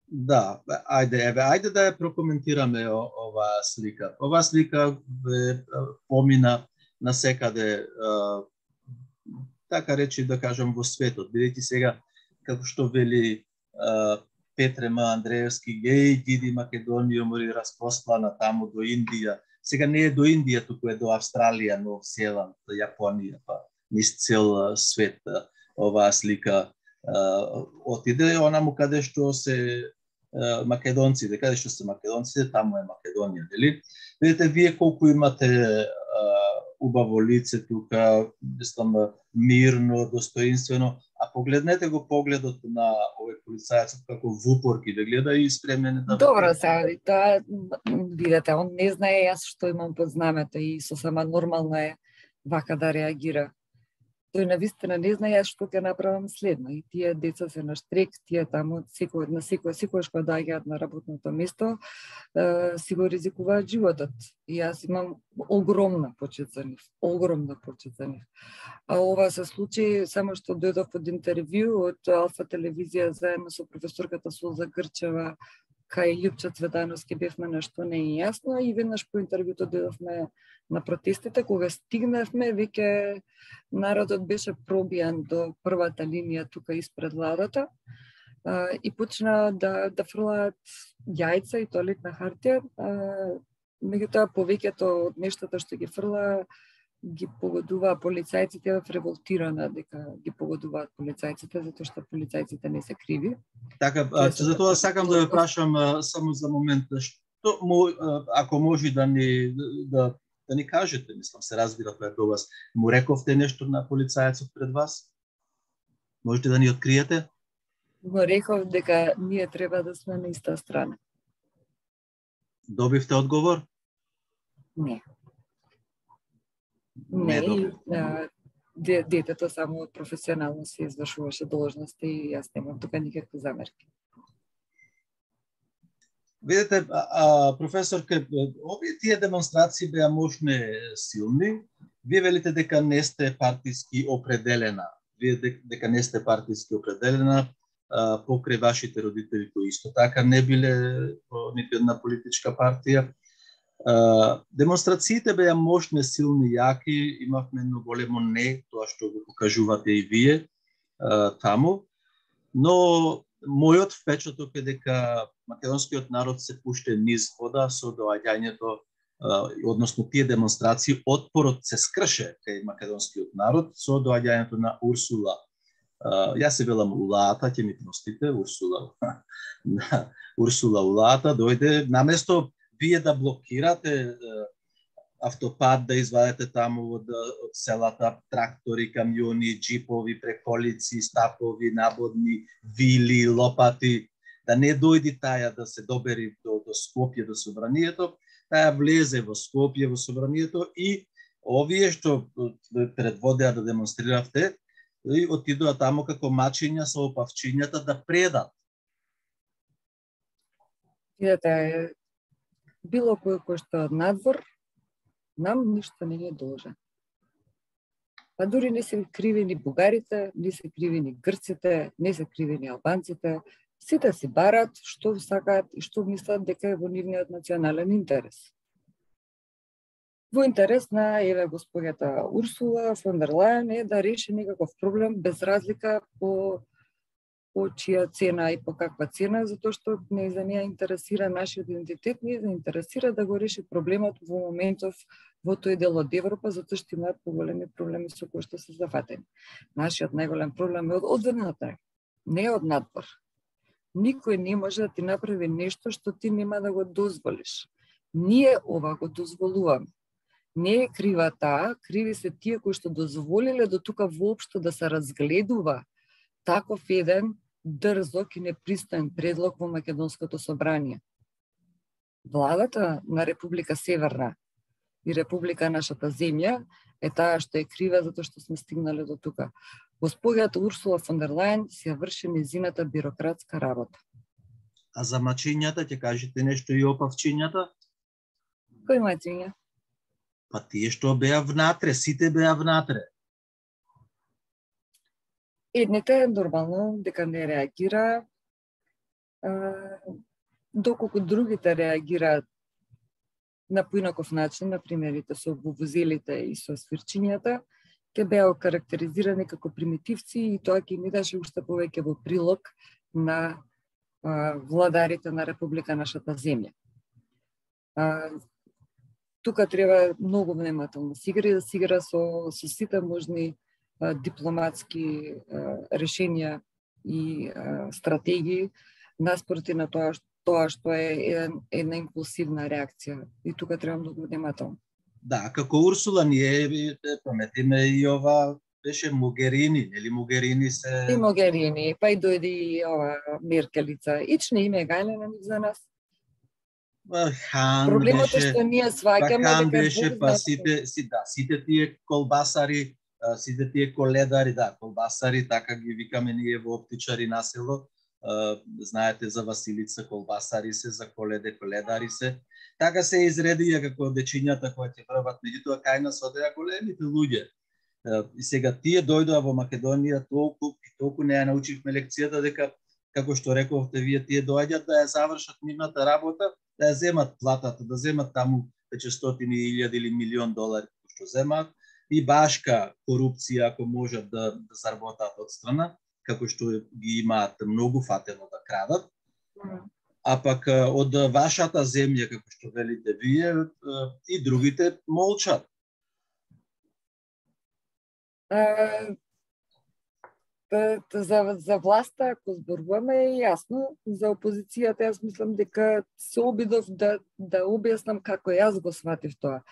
Да, ајде да ја прокоментираме оваа слика. Оваа слика помина насекаде, така речи да кажам во светот, бидејќи сега како што вели Петре М. Андреевски, иди Македонија, мори распростлана таму до Индија. Сега не е до Индија, туку е до Австралија, Нов Зеланд, Јапонија, па низ цел свет оваа слика отиде, онаму каде што се македонците, каде што се македонците, таму е Македонија, нели? Видите вие колку имате убаво лице тука, мислам мирно, достоинствено, а погледнете го погледот на овој полицаец како в упор ги гледа и спремен да. Добро, сега тоа видете, он не знае јас што имам под знамето и сосема нормално е вака да реагира. Тој навистина не знае јас што ќе направам следно. И тие деца се на штрек, тие таму секојаш кога доаѓаат на работното место, си го ризикуваат животот. И јас имам огромна почит за нив, А ова се случи само што дојдов од интервју од Алфа телевизија заедно со професорката Сулза Грчева кај Љупчо Цветановски бевме нешто не е јасно и веднаш по интервјуто дојдовме на протестите, кога стигнавме, веќе народот беше пробијан до првата линија тука испред владата и почна да фрлаат јајца и тоалетна хартија. Меѓутоа, повеќето од нештата што ги фрла ги погодуваа полицајците, в револтирана дека ги погодуваат полицајците, затоа што полицајците не се криви. Така, за тоа сакам да ве прашам само за момент, што ако може да ни кажете, мислам, се разбира тоа до вас, му рековте нешто на полицајецот пред вас? Можете да ни откриете? Му реков дека ние треба да сме на иста страна. Добивте одговор? Не. Не, детето само професионално се извршуваше должности и јас немам тука никакви замерки. Видете, професорке, овие тие демонстрации беа можне силни. Вие велите дека не сте партиски определена. Дека не сте партиски определена покрај вашите родители кои исто така не биле по ниту една политичка партија. Демонстрациите беа мощни, силни, јаки, имавме едно големо не, тоа што го покажувате и вие таму, но мојот впечаток е дека македонскиот народ се пуште низ вода со доаѓањето, односно тие демонстрации, отпорот се скрше кај македонскиот народ со доаѓањето на Урсула. Јас се велам Улаата, ќе ми простите, Урсула Улаата дојде наместо вие да блокирате автопат, да извадете таму од селата трактори, камиони, джипови, преколици, стапови, набодни, вили, лопати, да не дојди таја да се добери до Скопје, до собранието, таја влезе во Скопје, во собранието и овие што предводеа да демонстриравте, и отидоа таму како мачиња со опавчињата да предат. Видете, било кој што од надвор, нам ништо не е должен. Па дури не се криви ни бугарите, не се криви ни грците, не се криви ни албанците. Сите си барат што сакаат и што мислат дека е во нивниот национален интерес. Во интерес на госпоѓата Урсула фон дер Лајен е да реши некаков проблем без разлика по чија цена и по каква цена, затоа што не за неја интересира нашиот идентитет, не за интересира да го реши проблемот во моментов во тој дел од Европа, затоа што имаат поголеми проблеми со кои што се зафатени. Нашиот најголем проблем е од одврната, не од надвор. Никој не може да ти направи нешто што ти нема да го дозволиш. Ние ова го дозволуваме. Не е крива таа, криви се тие кои што дозволиле до тука воопшто да се разгледува таков еден дрзок и непристоен предлог во Македонското собрание. Владата на Република Северна и Република нашата земја е таа што е крива затоа што сме стигнале до тука. Госпоѓата Урсула фон дер Лајен си ја врши незината бирократска работа. А за мачињата ќе кажете нешто и опавчињата? Кои мачиња? Па тие што беа внатре, сите беа внатре. Едните нормално дека не реагира, доколку другите реагираат на поинаков начин, например, со вувузелите и со свирчињата, ќе беа окарактеризирани како примитивци и тоа ќе ни даше уште повеќе во прилог на владарите на Република нашата земја. Тука треба многу внимателно да се игра со сите можни дипломатски решенија и стратегии наспроти на тоа што е една импулсивна реакција. И тука треба многу внимателно. Да, како Урсула ние паметиме и ова беше Могерини, нели Могерини се... И Могерини, па и дојде и ова Меркелица. Ични име гајле на нив за нас. Хан проблемот беше, е што ние сваќаме Хан дека беше, па сите тие колбасари, сите тие коледари, да, колбасари, така ги викаме ние во оптичари на село. Знаете за Василица, колбасари се, за коледари се. Така се изредија како дечињата кои ќе врват, меѓутоа кај нас одеа големите луѓе. И сега тие дојдоа во Македонија толку не ја научихме лекцијата дека, како што рековте вие, тие доаѓаат да ја завршат нивната работа, да ја земат платата, да земат таму веќе стотини илјади или милион долари што земаат, и башка корупција ако можат да заработат од страна, како што ги имаат многу фатено да крадат. А пак од вашата земја, како што велите вие, и другите молчат. За власта, ако зборуваме, е јасно. За опозицијата, јас мислам дека се обидов да објаснам како јас го сватив тоа.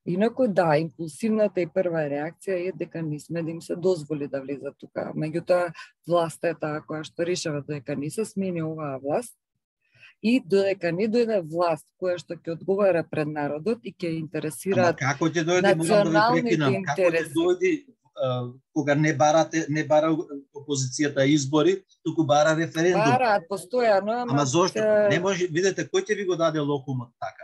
Инаку да, импулсивната и прва реакција е дека не сме да им се дозволи да влезат тука. Меѓутоа, власта е таа која што решава дека не се смени оваа власт и додека не дојде власт која што ќе одговара пред народот и ќе интересира националните интереси. Како ќе дојде кога не бара опозицијата избори, туку бара референдум. Бараат постојано, ама зошто? Не може, видете, кој ќе ви го даде локумот така?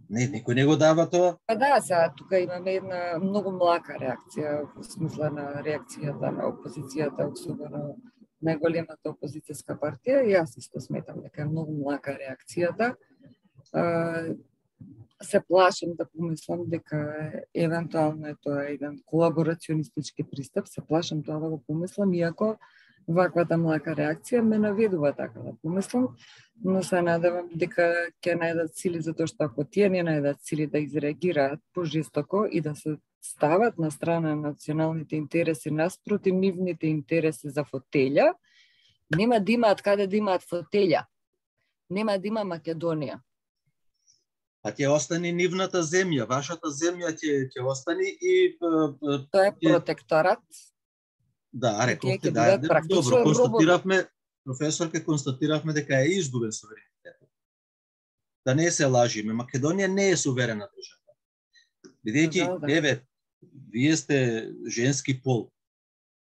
Не, никој не го дава тоа. Па да, сега тука имаме една многу млака реакција, во смисла на реакцијата на опозицијата, особено најголемата опозицијска партија. Јас исто сметам дека е многу млака реакцијата. Се плашам да помислам дека евентуално е тоа еден колаборационистички пристап, се плашам тоа да го помислам, иако ваквата млака реакција ме наведува така да помислам, но се надевам дека ќе најдат сили, затоа што ако тие не најдат сили да изреагираат пожестоко и да се стават на страна на националните интереси наспроти нивните интереси за фотелја, нема да имаат каде да имаат фотелја. Нема да има Македонија. А ќе остане нивната земја, вашата земја ќе остане и... Тоа е протекторат. Да, рековте, да, добро, констатиравме, професорке, констатиравме дека е изгубен суверенитетот. Да не се лажиме, Македонија не е суверена држава. Бидејќи, еве, вие сте женски пол,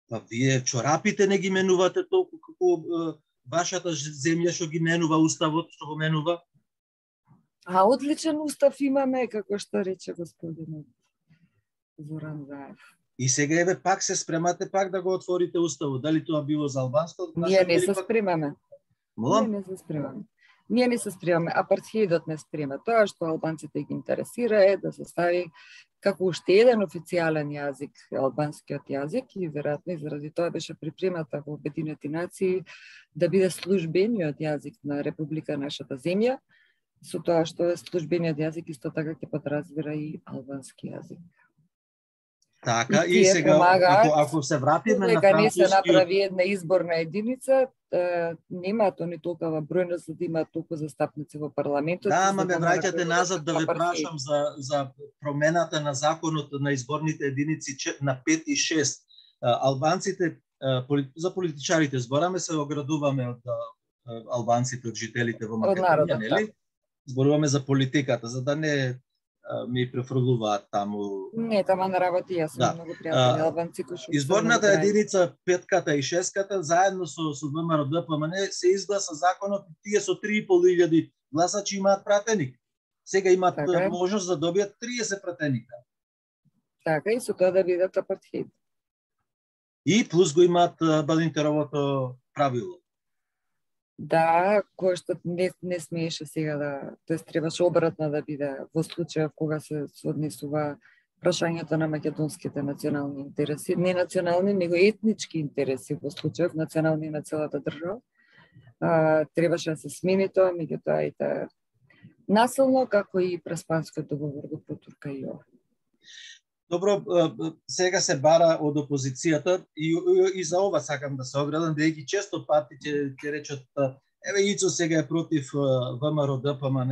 па вие чорапите не ги менувате толку како вашата земја што ги менува уставот, што го менува. А одличен устав имаме, како што рече господинот Зоран Заев. И сега еве пак се спремате пак да го отворите уставот. Дали тоа било за албанското? Ние не се спремаме. Молам? Ние не се спремаме. Ние не се спремаме. Апартхеидот не спрема. Тоа што албанците ги интересира е да се стави како уште еден официјален јазик, албанскиот јазик, и веројатно заради тоа беше припремата во Обединети нации да биде службениот јазик на Република нашата земја, со тоа што службениот јазик исто така ќе подразбира и албански јазик. Така, и сега, помагаат, ако се вратиме на дека не се францускиот... направи една изборна единица, немаат они толкова бројност за да имаат толку застапници во парламентот. Да, ама ме враќате назад да ве прашам за промената на законот на изборните единици на 5 и 6. Албанците, за политичарите збораме, се оградуваме од албанците, од жителите во Македонија, нели? Зборуваме за политиката, за да не ми префрлуваат таму. Не, тама на работи, јас сум многу пријатели албанци кои што изборната единица 5-ката и 6-ката заедно со ВМРО ДПМН се изгласа законот, тие со 3.500 гласачи имаат пратеник. Сега имаат можност да добијат 30 пратеника. Така и со тоа да бидат апартхеид. И плюс го имаат Балинтеровото правило. Да, кој што не смееше сега да, тоест требаше обратно да биде во случајов кога се однесува прашањето на македонските национални интереси, не национални, него етнички интереси во случајов национални на целата држава. Требаше да се смени тоа, меѓутоа и насилно, како и Преспанскиот договор го потурка и ова. Добро, сега се бара од опозицијата и за ова сакам да се оградам, бидејќи често пати ќе речат еве Ицо сега е против ВМРО ДПМН,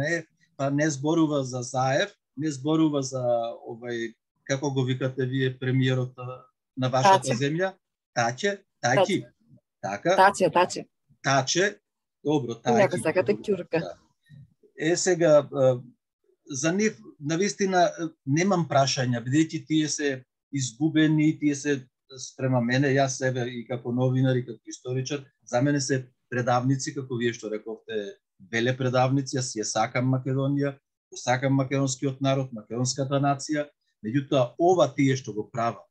па не зборува за Заев, не зборува за овај, како го викате вие, премиерот на вашата земја, Таче. Така? Таче. Добро, Тајки. Нека сакате ќурка. Сега за нив навистина немам прашања, бидејќи тие се изгубени, тие се спрема мене, јас себе и како новинар и како историчар, за мене се предавници, како вие што рековте, веле предавници, јас ја сакам Македонија, сакам македонскиот народ, македонската нација, меѓутоа ова тие што го прават,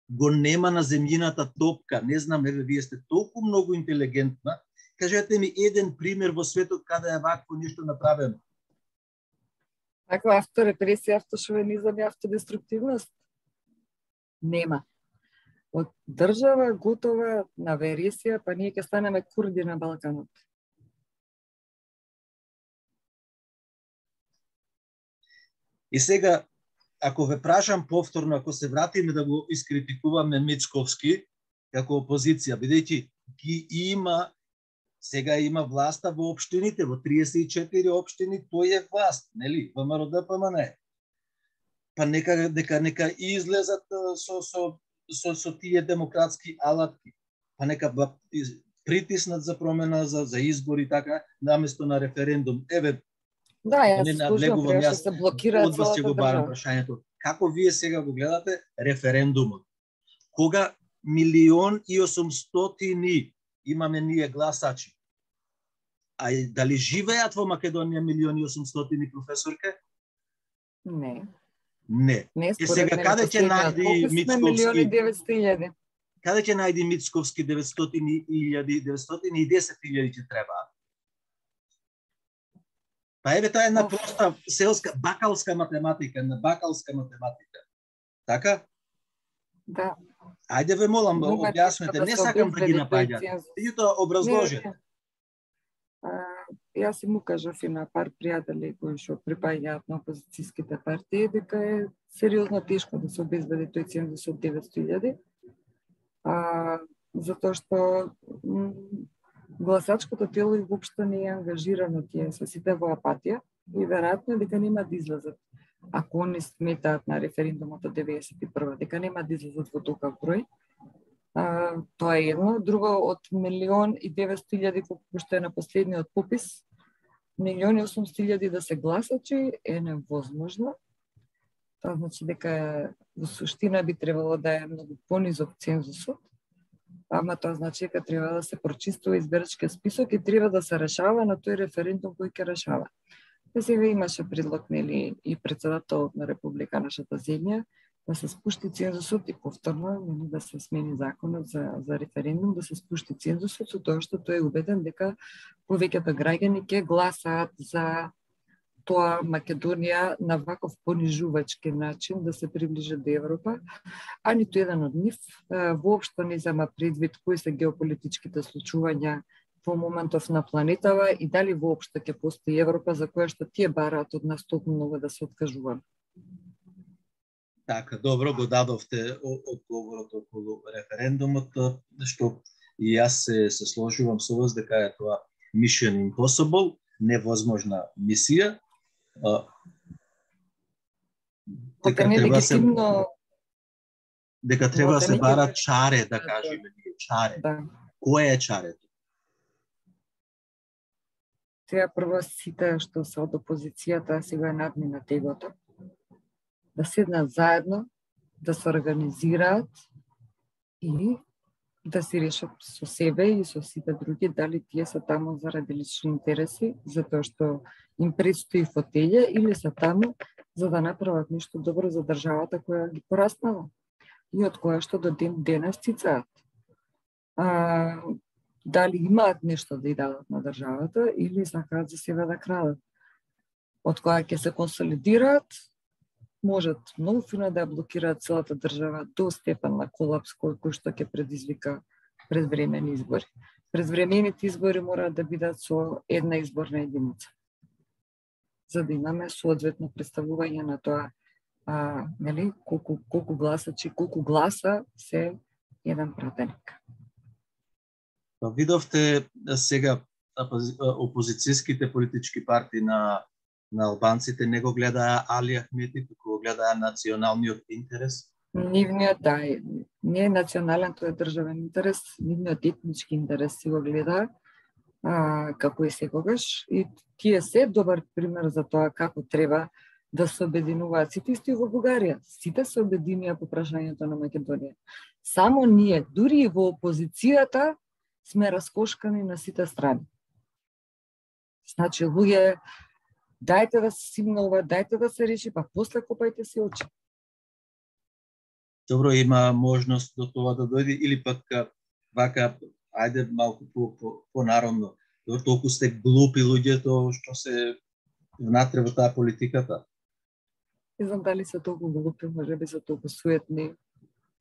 го нема на земјината топка, не знам, еве вие сте толку многу интелигентна, кажете ми еден пример во светот каде е вакво нешто направено. Ако авторепресија, автошовинизам и автодеструктивност? Нема. Од држава готова на вересија, па ние ќе станеме курди на Балканот. И сега, ако ве прашам повторно, ако се вратиме да го искритикуваме Мицковски како опозиција, бидејќи ги има, сега има власта во општините, во 34 општини, тој е власт, нели? ВМРО ДПМН. Па нека излезат со тие демократски алатки. Па нека притиснат за промена, за избори, така, наместо на референдум. Еве, да, јас слушам, што се блокира од вас ќе го барам прашањето. Како вие сега го гледате референдумот? Кога 1.800.000 имаме ние гласачи. А дали живеат во Македонија 1.800.000 професорке? Не. Не. Сега каде ќе најди Мицковски? 1.900.000. Каде ќе најди Мицковски 910.000 ќе требаат? Па еве таа една проста селска бакалска математика, Така? Да. Ајде ве молам, објаснете, не сакам да ги напаѓам. Меѓутоа образложете. Јас им кажав и на пар пријатели кои што припаѓаат на опозицијските партии дека е сериозно тешко да се обезбеди тој цензус од 900.000. Затоа што гласачкото тело и воопшто не е ангажирано, тие се сите во апатија и веројатно дека нема да излезат. Ако они сметаат на референдумот од 91 дека нема да излезат во толков број, тоа е едно. Друго, од 1.900.000 колку што е на последниот попис, 1.800.000 да се гласачи е невозможно. Тоа значи дека во суштина би требало да е многу понизок цензусот, ама тоа значи дека треба да се прочистува избирачкиот список и треба да се решава на тој референдум кој ќе решава. Сега имаше предлог, нели, и председателот на Република, нашата земја, да се спушти цензусот и повторно да се смени законот за референдум, да се спушти цензусот, со тоа што тој е убеден дека повеќето граѓани ќе гласаат за тоа Македонија на ваков понижувачки начин да се приближи до Европа, а ниту еден од нив воопшто не зема предвид кои се геополитичките случувања во моментов на планетава и дали воопшто ќе постои Европа за која што тие бараат од нас толку многу да се откажуваме. Така, добро го дадовте одговорот околу референдумот, што и јас се сложувам со вас дека е тоа Mission Impossible, невозможна мисија. Дека треба да се бара чаре, да кажеме ние, чаре. Да. Кој е чарето? Треба прво сите што се од опозицијата сега надни на тегото, да седнат заедно, да се организираат и да си решат со себе и со сите други дали тие се таму заради лични интереси, затоа што им предстои фотелја, или се таму за да направат нешто добро за државата која ги пораснала и од која што до ден денес цицаат. Дали имаат нешто да ја дадат на државата или сакаат за себе да крадат. Од која ќе се консолидираат, можат многу фино да ја блокираат целата држава до степен на колапс кој што ќе предизвика предвремени избори. Предвремените избори мораат да бидат со една изборна единица, за да имаме соодветно представување на тоа нели, колку гласачи, колку гласа се еден пратеник. Видовте сега опозицијските политички партии на албанците не го гледаа Али Ахмети, туку го гледаа националниот интерес? Нивниот, да, не е национален, тој е државен интерес, нивниот етнички интерес си го гледаа, како и секогаш, и тие се добар пример за тоа како треба да се обединуваат сите исти во Бугарија. Сите се обединија по прашањето на Македонија. Само ние, дури и во опозицијата, сме раскошкани на сите страни. Значи, луѓе, дајте да се симнува, дајте да се реши, па после копајте си очи. Добро, има можност до тоа да дојде, или пак вака, ајде малку по-народно, толку сте глупи луѓето што се внатре во таа политиката? Не знам дали се толку глупи, може би се толку суетни,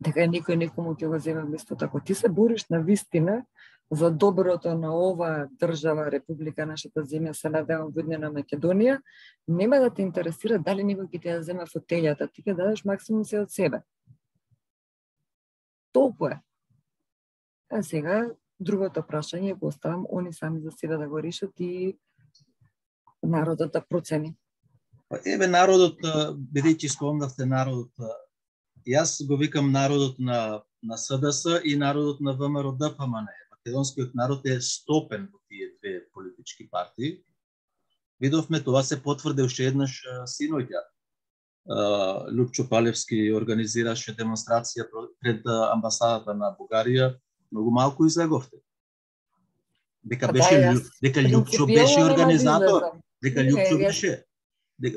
дека никој некому ќе го земе место. Ако ти се бориш на вистина за доброто на оваа држава, република, нашата земја, се надевам во на Македонија, нема да те интересира дали некој ќе ти ја земе фотелјата, ти ќе дадеш максимум се од себе. Толку е. А сега, другото прашање го оставам они сами за себе да го решат и народот да процени. Еве народот, бидејќи спомнавте народот, јас го викам народот на СДС и народот на ВМРО-ДПМН. Македонскиот народ е стопен во тие две политички партии. Видовме, тоа се потврди уште еднаш синоќа. Лупчо Палевски организираше демонстрација пред амбасадата на Бугарија, многу малку излеговте. Дека Лупчо беше организатор, дека Лупчо беше.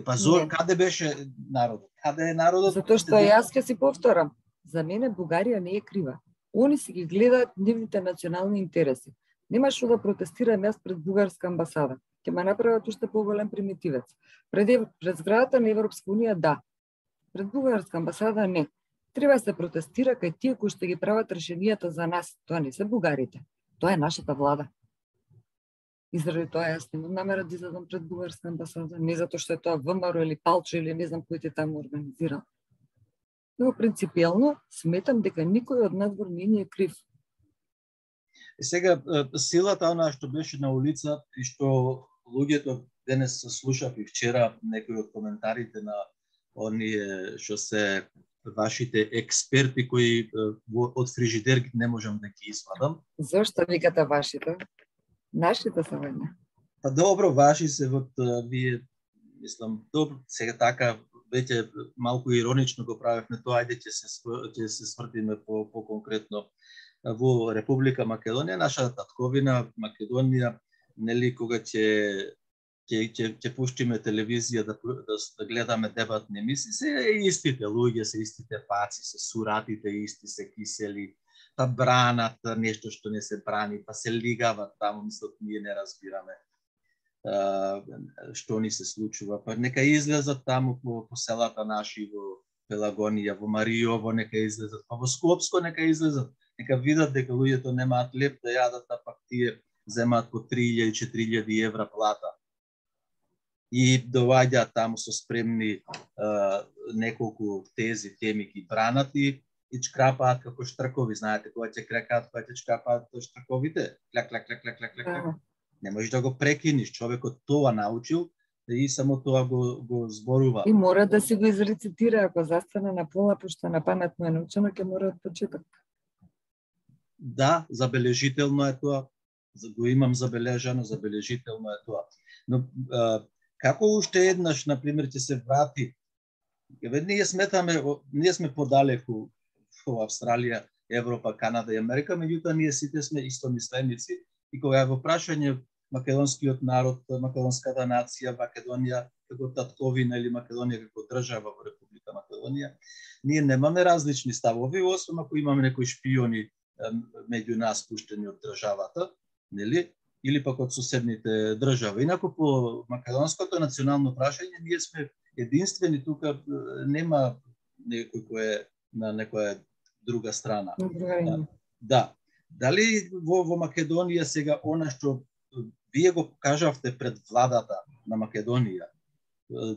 Па каде беше народот? Каде е народот? Затоа што јас ќе си повторам, за мене Бугарија не е крива. Они си ги гледаат нивните национални интереси. Нема што да протестирам јас пред бугарска амбасада. Ќе ме направат уште поголем примитивец. Пред зградата на Европска унија, да. Пред бугарска амбасада, не. Треба да се протестира кај тие кои што ги прават решенијата за нас. Тоа не се бугарите. Тоа е нашата влада. И заради тоа јас немам намера да излезам пред бугарска амбасада, не затоа што е тоа ВМРО или Палчо или не знам кој те таму организирал. Но принципиелно сметам дека никој од надвор не е крив. Сега силата она што беше на улица и што луѓето денес слушав и вчера некои од коментарите на оние што се вашите експерти кои од фрижидер не можам да ги извадам. Зошто викате вашите? Нашите се вајна. Па добро, ваши се вот вие, мислам, добро, сега така веќе малку иронично го правевме тоа, ајде ќе се свртиме по конкретно во Република Македонија, нашата татковина Македонија, нели кога ќе пуштиме телевизија да гледаме дебатни емисии, се истите луѓе, се истите паци, се суратите исти, се кисели, па бранат нешто што не се брани, па се лигават таму, мислат ние не разбираме што ни се случува. Па нека излезат таму по селата наши, во Пелагонија, во Мариово, нека излезат, па во Скопско нека излезат, нека видат дека луѓето немаат леп да јадат, а пак тие земаат по 3.000-4.000 евра плата. И доаѓаат таму со спремни неколку тези теми ги бранат и чкрапаат како штркови, знаете, кога ќе крекаат, кога ќе чкрапаат штрковите, клак, клак, клак, клак, клак, клак. Не можеш да го прекиниш, човекот тоа научил и само тоа го зборува. И мора да си го изрецитира, ако застане на пола, пошто на памет му е научено, ќе мора од почеток. Да, забележително е тоа. Го имам забележано, забележително е тоа. Но како уште еднаш, например, ќе се врати, ние сме подалеку во Австралија, Европа, Канада и Америка, меѓутоа ние сите сме истомисленици и кога е во прашање македонскиот народ, македонската нација, Македонија како татковина или Македонија како држава во Република Македонија, ние немаме различни ставови, освен ако имаме некои шпиони меѓу нас пуштени од државата, нели? Или пак од соседните држави. Инаку по македонското национално прашање ние сме единствени, тука нема некој кој е на некоја друга страна. Да. Дали во Македонија сега она што вие го кажавте пред владата на Македонија,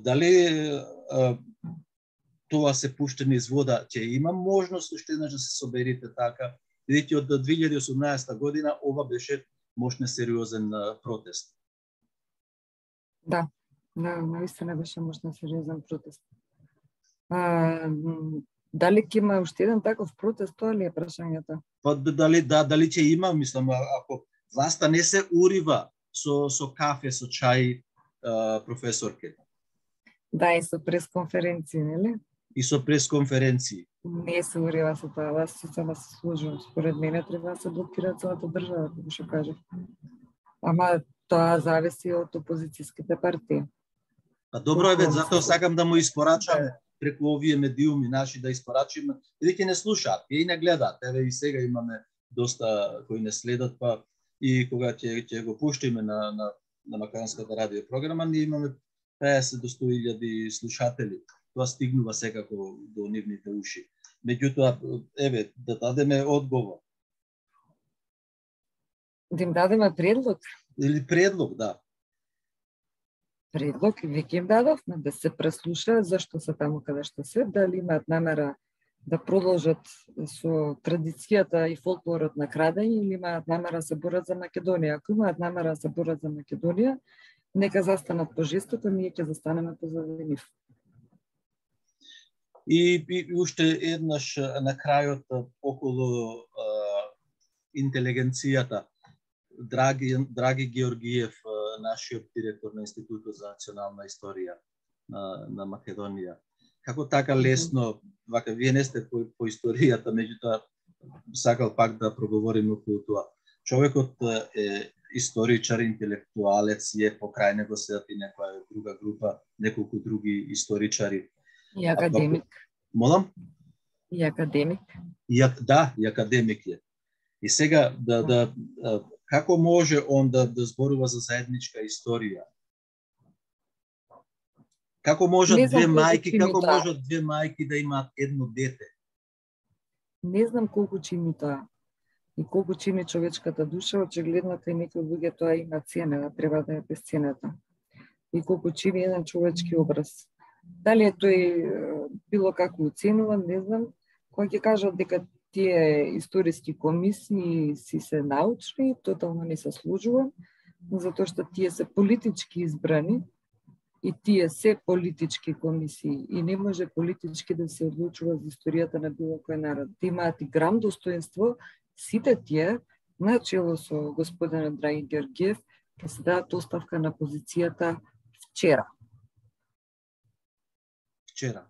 дали тоа се пуштени из вода, ќе има можност уште еднаш да се соберите така? Видите, од 2018 година ова беше мощно сериозен протест. Да, наистина беше мощно сериозен протест. Дали ќе има уште еден таков протест, тоа ли е прашањето? Дали ќе има, мислам, ако власта не се урива со кафе, со чај, професорке. Да, и со пресконференции, нели? И со пресконференции. Не се урива со тоа, аз се служувам. Според мене треба да се блокира целата држава, како што кажав. Ама тоа зависи од опозицијските партии. Добро е, затоа сакам да му испорачаме преку овие медиуми наши, да испорачиме, бидејќи не слушаат, и не гледаат. Еве и сега имаме доста кои не следат, па и кога ќе го пуштиме на македонската радио програма, ние имаме 50 до 100.000 слушатели. Тоа стигнува секако до нивните уши. Меѓутоа, еве, да дадеме одговор. Да им дадеме предлог? Или предлог, да. Предлог, веќе им дадовме да се преслушаат зашто се таму каде што се, дали имаат намера да продолжат со традицијата и фолклорот на крадење или имаат намера да се борат за Македонија. Ако имаат намера да се борат за Македонија, нека застанат пожестоко, ние ќе застанеме позади нив. И уште еднаш на крајот околу интелигенцијата. Драги Георгиев, нашиот директор на Институтот за национална историја на Македонија. Како така лесно, вака, вие не сте по историјата, меѓутоа сакал пак да проговориме околу тоа. Човекот е историчар, интелектуалец, е покрај него седат и некоја друга група, неколку други историчари. И академик. Молам? И академик. Да, и академик е. И сега, како може он да зборува за заедничка историја? Како можат две мајки да имаат едно дете? Не знам колку чини тоа. И колку чини човечката душа, очигледно кај некои луѓе тоа има цена, треба да е бесценета. И колку чини еден човечки образ. Дали е тој било како оценуван, не знам. Кога ќе кажат дека тие историски комисии си се научни, тотално не се служува, затоа што тие се политички избрани и тие се политички комисии и не може политички да се одлучува за историјата на било кој народ. Те имаат и грам достоинство, сите тие, начело со господинот Драги Георгиев, ќе се дадат оставка на позицијата вчера. Вчера,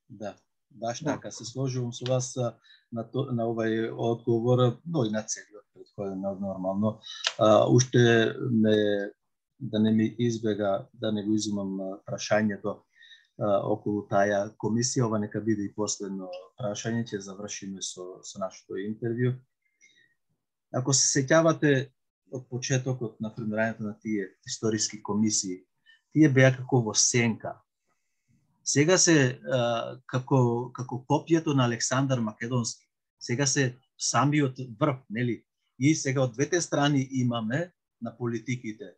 да. Баш така, се сложувам со вас на овај одговор, но и на целиот претходен нормално. Уште да не ми избега, да не го изумам прашањето околу таја комисија, ова нека биде и последно прашање, ќе завршиме со нашето интервју. Ако се сеќавате од почетокот на формирањето на тие историски комисии, тие беа како во сенка. Сега се како копието на Александар Македонски. Сега се самиот врв, нели? И сега од двете страни имаме на политиките.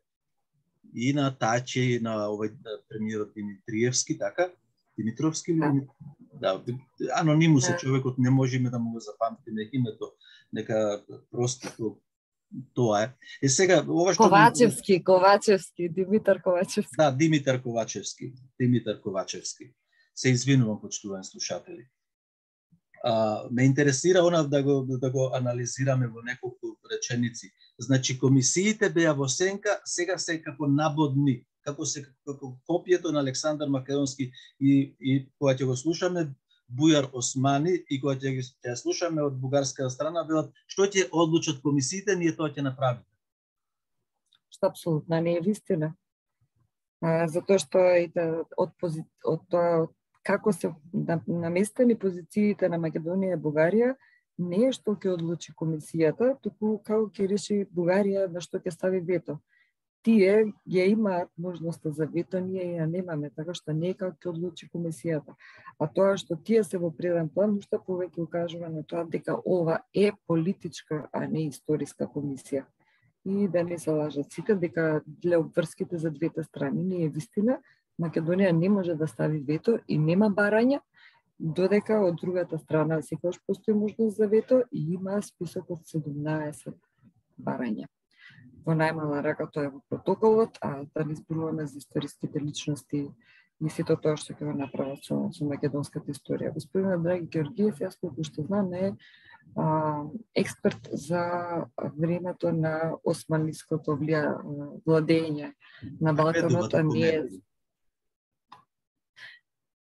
И на Тачи, и на овој премиерот Димитриевски, така? Димитровски или да, анонимус е човекот, не можеме да му го запамтиме името, нека просто тоа е. Е сега ова што Ковачевски, Димитар Ковачевски. Да, Димитар Ковачевски. Се извинувам, почитувани слушатели. Ме интересира она да го анализираме во неколку реченици. Значи комисиите беа во сенка, сега се како набодни, како копието на Александар Македонски и кога ќе го слушаме Бујар Османи и кога ќе слушаме од бугарска страна, велат што ќе одлучат комисиите, ние тоа ќе направиме. Што апсолутно не е вистина. Затоа што од тоа како се наместени позициите на Македонија и Бугарија, не е што ќе одлучи комисијата, туку како ќе реши Бугарија на што ќе стави вето. Тие ја имаат можноста за вето, ние ја немаме, така што не е како ќе одлучи комисијата. А тоа што тие се во преден план, уште повеќе укажува на тоа дека ова е политичка, а не историска комисија. И да не се лажат сите дека для обврските за двете страни не е вистина. Македонија не може да стави вето и нема барања, додека од другата страна секогаш постои можност за вето и има список од 17 барања. Во најмала рака тоа е во протоколот, а да не зборуваме за историските личности и сето тоа што ќе го направат со македонската историја. Господин Драги Георгиев, јас колку што знам, е експерт за времето на османлиското владење на Балканот, а не е...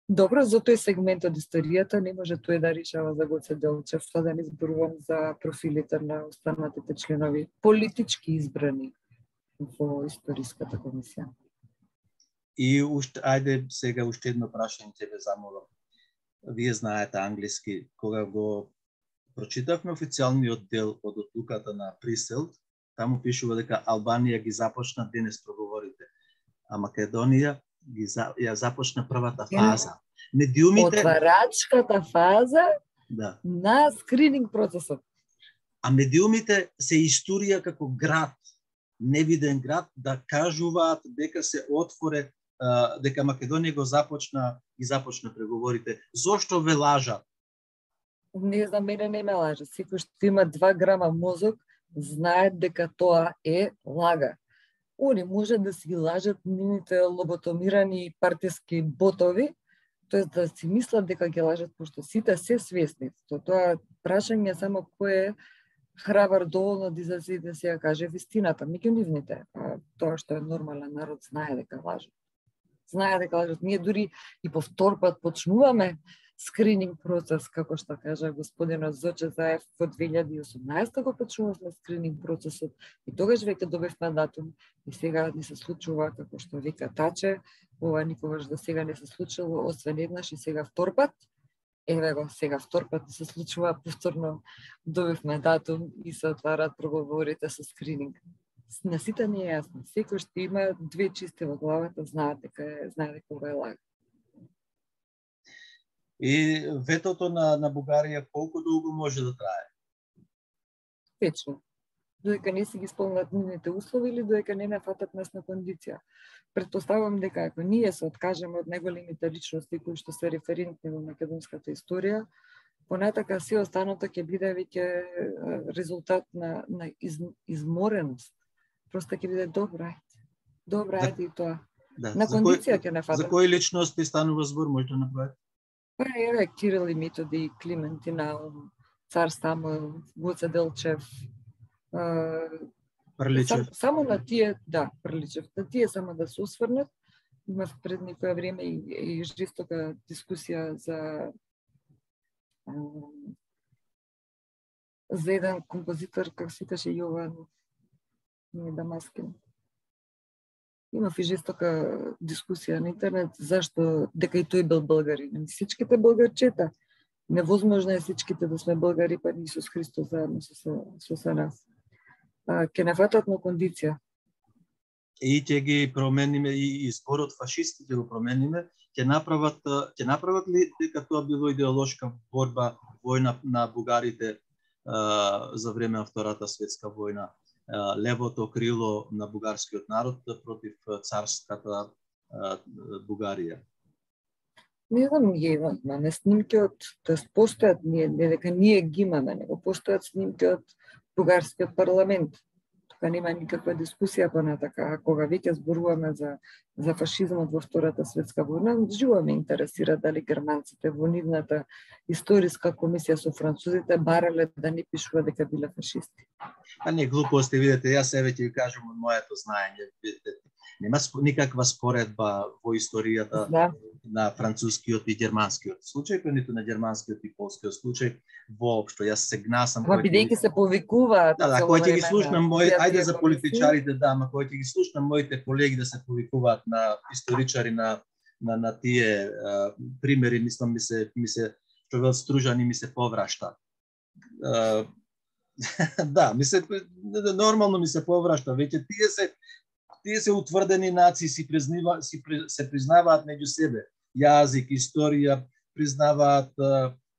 Добро, за тој сегмент од историјата не може тој да решава за Гоце Делчев, тоа да не зборувам за профилите на останатите членови, политички избрани во историската комисија. И ајде сега уште едно прашање ќе ве замолам. Вие знаете англиски, кога го прочитавме официјалниот дел од одлуката на Приселт, таму пишува дека Албанија ги започна денес проговорите, а Македонија ја започна првата фаза. Медиумите... Отварачката фаза на скрининг процесот. А медиумите се историја како град, невиден град, да кажуваат дека се отворе, дека Македонија го започна преговорите. Зошто ве лажат? Не, за мене не ме лажа. Секој што има 2 грама мозок, знае дека тоа е лага. Они може да си ги лажат нивните лоботомирани партиски ботови, тоест да си мислат дека ги лажат, пошто сите се свесни. Тоа прашање само кој е храбар доволно да излезе и да се ја каже вистината. Меѓу нивните, тоа што е нормален народ знае дека лажат. Знае дека лажат. Ние дури и по втор пат почнуваме скрининг процес, како што кажа господинот Зоче Заев, во 2018 го почнувавме скрининг процесот и тогаш веќе добивме датум и сега ни се случува, како што вика Таче, ова никогаш до сега не се случило, освен еднаш и сега втор пат. Еве го, сега втор пат се случува, повторно добивме датум и се отварат проговорите со скрининг. На сите не е јасно. Секој што има 2 чисти во главата знае дека ова е лага. И ветото на Бугарија колку долго може да трае? Вечно. Додека не си ги исполнат нивните услови или додека не фатат насна кондиција. Претпоставувам дека ако ние се откажеме од најголемите личности кои што се референтни во македонската историја, понатака се останато ќе биде веќе резултат на измореност. Просто ќе биде добра ајде и тоа. Да. На кондиција ќе не фатат. За кои личности станува збор, може да направите? Еве Кирил и Методи, Клименти Наум, Цар Самуил, Гоце Делчев, Приличев. Само на тие, Приличев. На тие само да се осврнат. Имав пред некоја време и жестока дискусија за еден композитор, како се викаше Јован Дамаскин. Имав и жестока дискусија на интернет зашто дека и тој бил българин. Сичките българчета. Невозможно е сичките да сме българи, па Исус Христос заедно со нас. Ке не фатат на кондиција. И ќе ги промениме и зборот фашисти ќе го промениме, ќе направат ли дека тоа било идеолошка борба, војна на бугарите за време на Втората светска војна? Левото крило на бугарскиот народ против царската Бугарија. Не знам, имаме снимки од, тоест постојат, не дека ние ги имаме, него постојат снимки од бугарскиот парламент. Тука нема никаква дискусија понатака, кога веќе зборуваме за фашизмот во Втората светска војна, живо ме интересира дали германците во нивната историска комисија со французите барале да не пишува дека биле фашисти. А не глупости, видите, јас еве ќе ви кажам од моето знаење. Нема никаква споредба во историјата на францускиот и германскиот случај, ниту на германскиот и полскиот случај воопшто. Јас се гнасам кој бидејќи се повикуваат. Да, кој ќе ги слушнам ајде за политичарите, да, ама кој ќе ги слушнам моите колеги да се повикуваат на историчари на тие примери, мислам ми се што вел Стружани ми се поврашта. Да, нормално ми се поврашта, веќе тие се утврдени нации, се признаваат меѓу себе. Јазик, историја, признаваат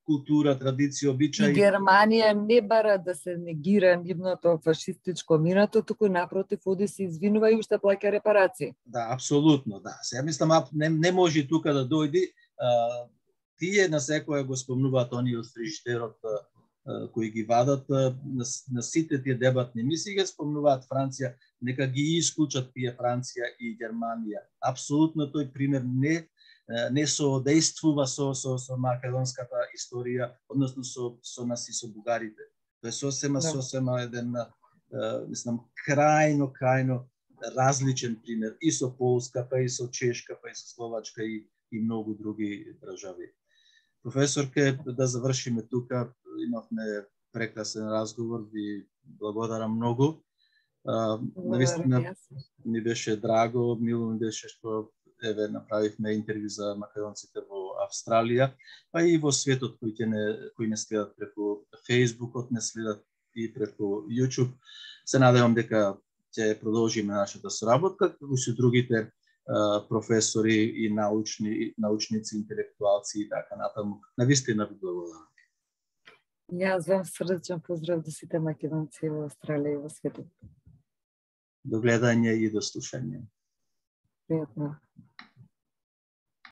култура, традиција, обичаи. И Германија не бара да се негира нивното фашистичко минато, туку напротив оди се извинува и уште плаќа репарации. Да, апсолутно, да. Се мислам не може тука да дојди. Тие на секоја го спомнуваат оние од фрижитерот кои ги вадат на сите тие дебатни мисии, ги спомнуваат Франција, нека ги исклучат тие Франција и Германија. Апсолутно тој пример не соодействува со македонската историја, односно со нас и со бугарите. Тоа е сосема еден, мислам, крајно различен пример и со Полска, па и со Чешка, па и со Словачка и многу други држави. Професорке, да завршиме тука, имавме прекрасен разговор, ви благодарам многу. Навистина ми беше драго, мило ми беше што направивме интервју за македонците во Австралија, па и во светот кои не следат преку Фејсбукот, не следат и преку YouTube. Се надевам дека ќе продолжиме нашата соработка, како и со другите професори и научници, интелектуалци и така натаму. Навистина ви благодарам. Јас вам срдечен поздрав до сите македонци во Австралија и во светот. До гледање и до слушање. Пријатно.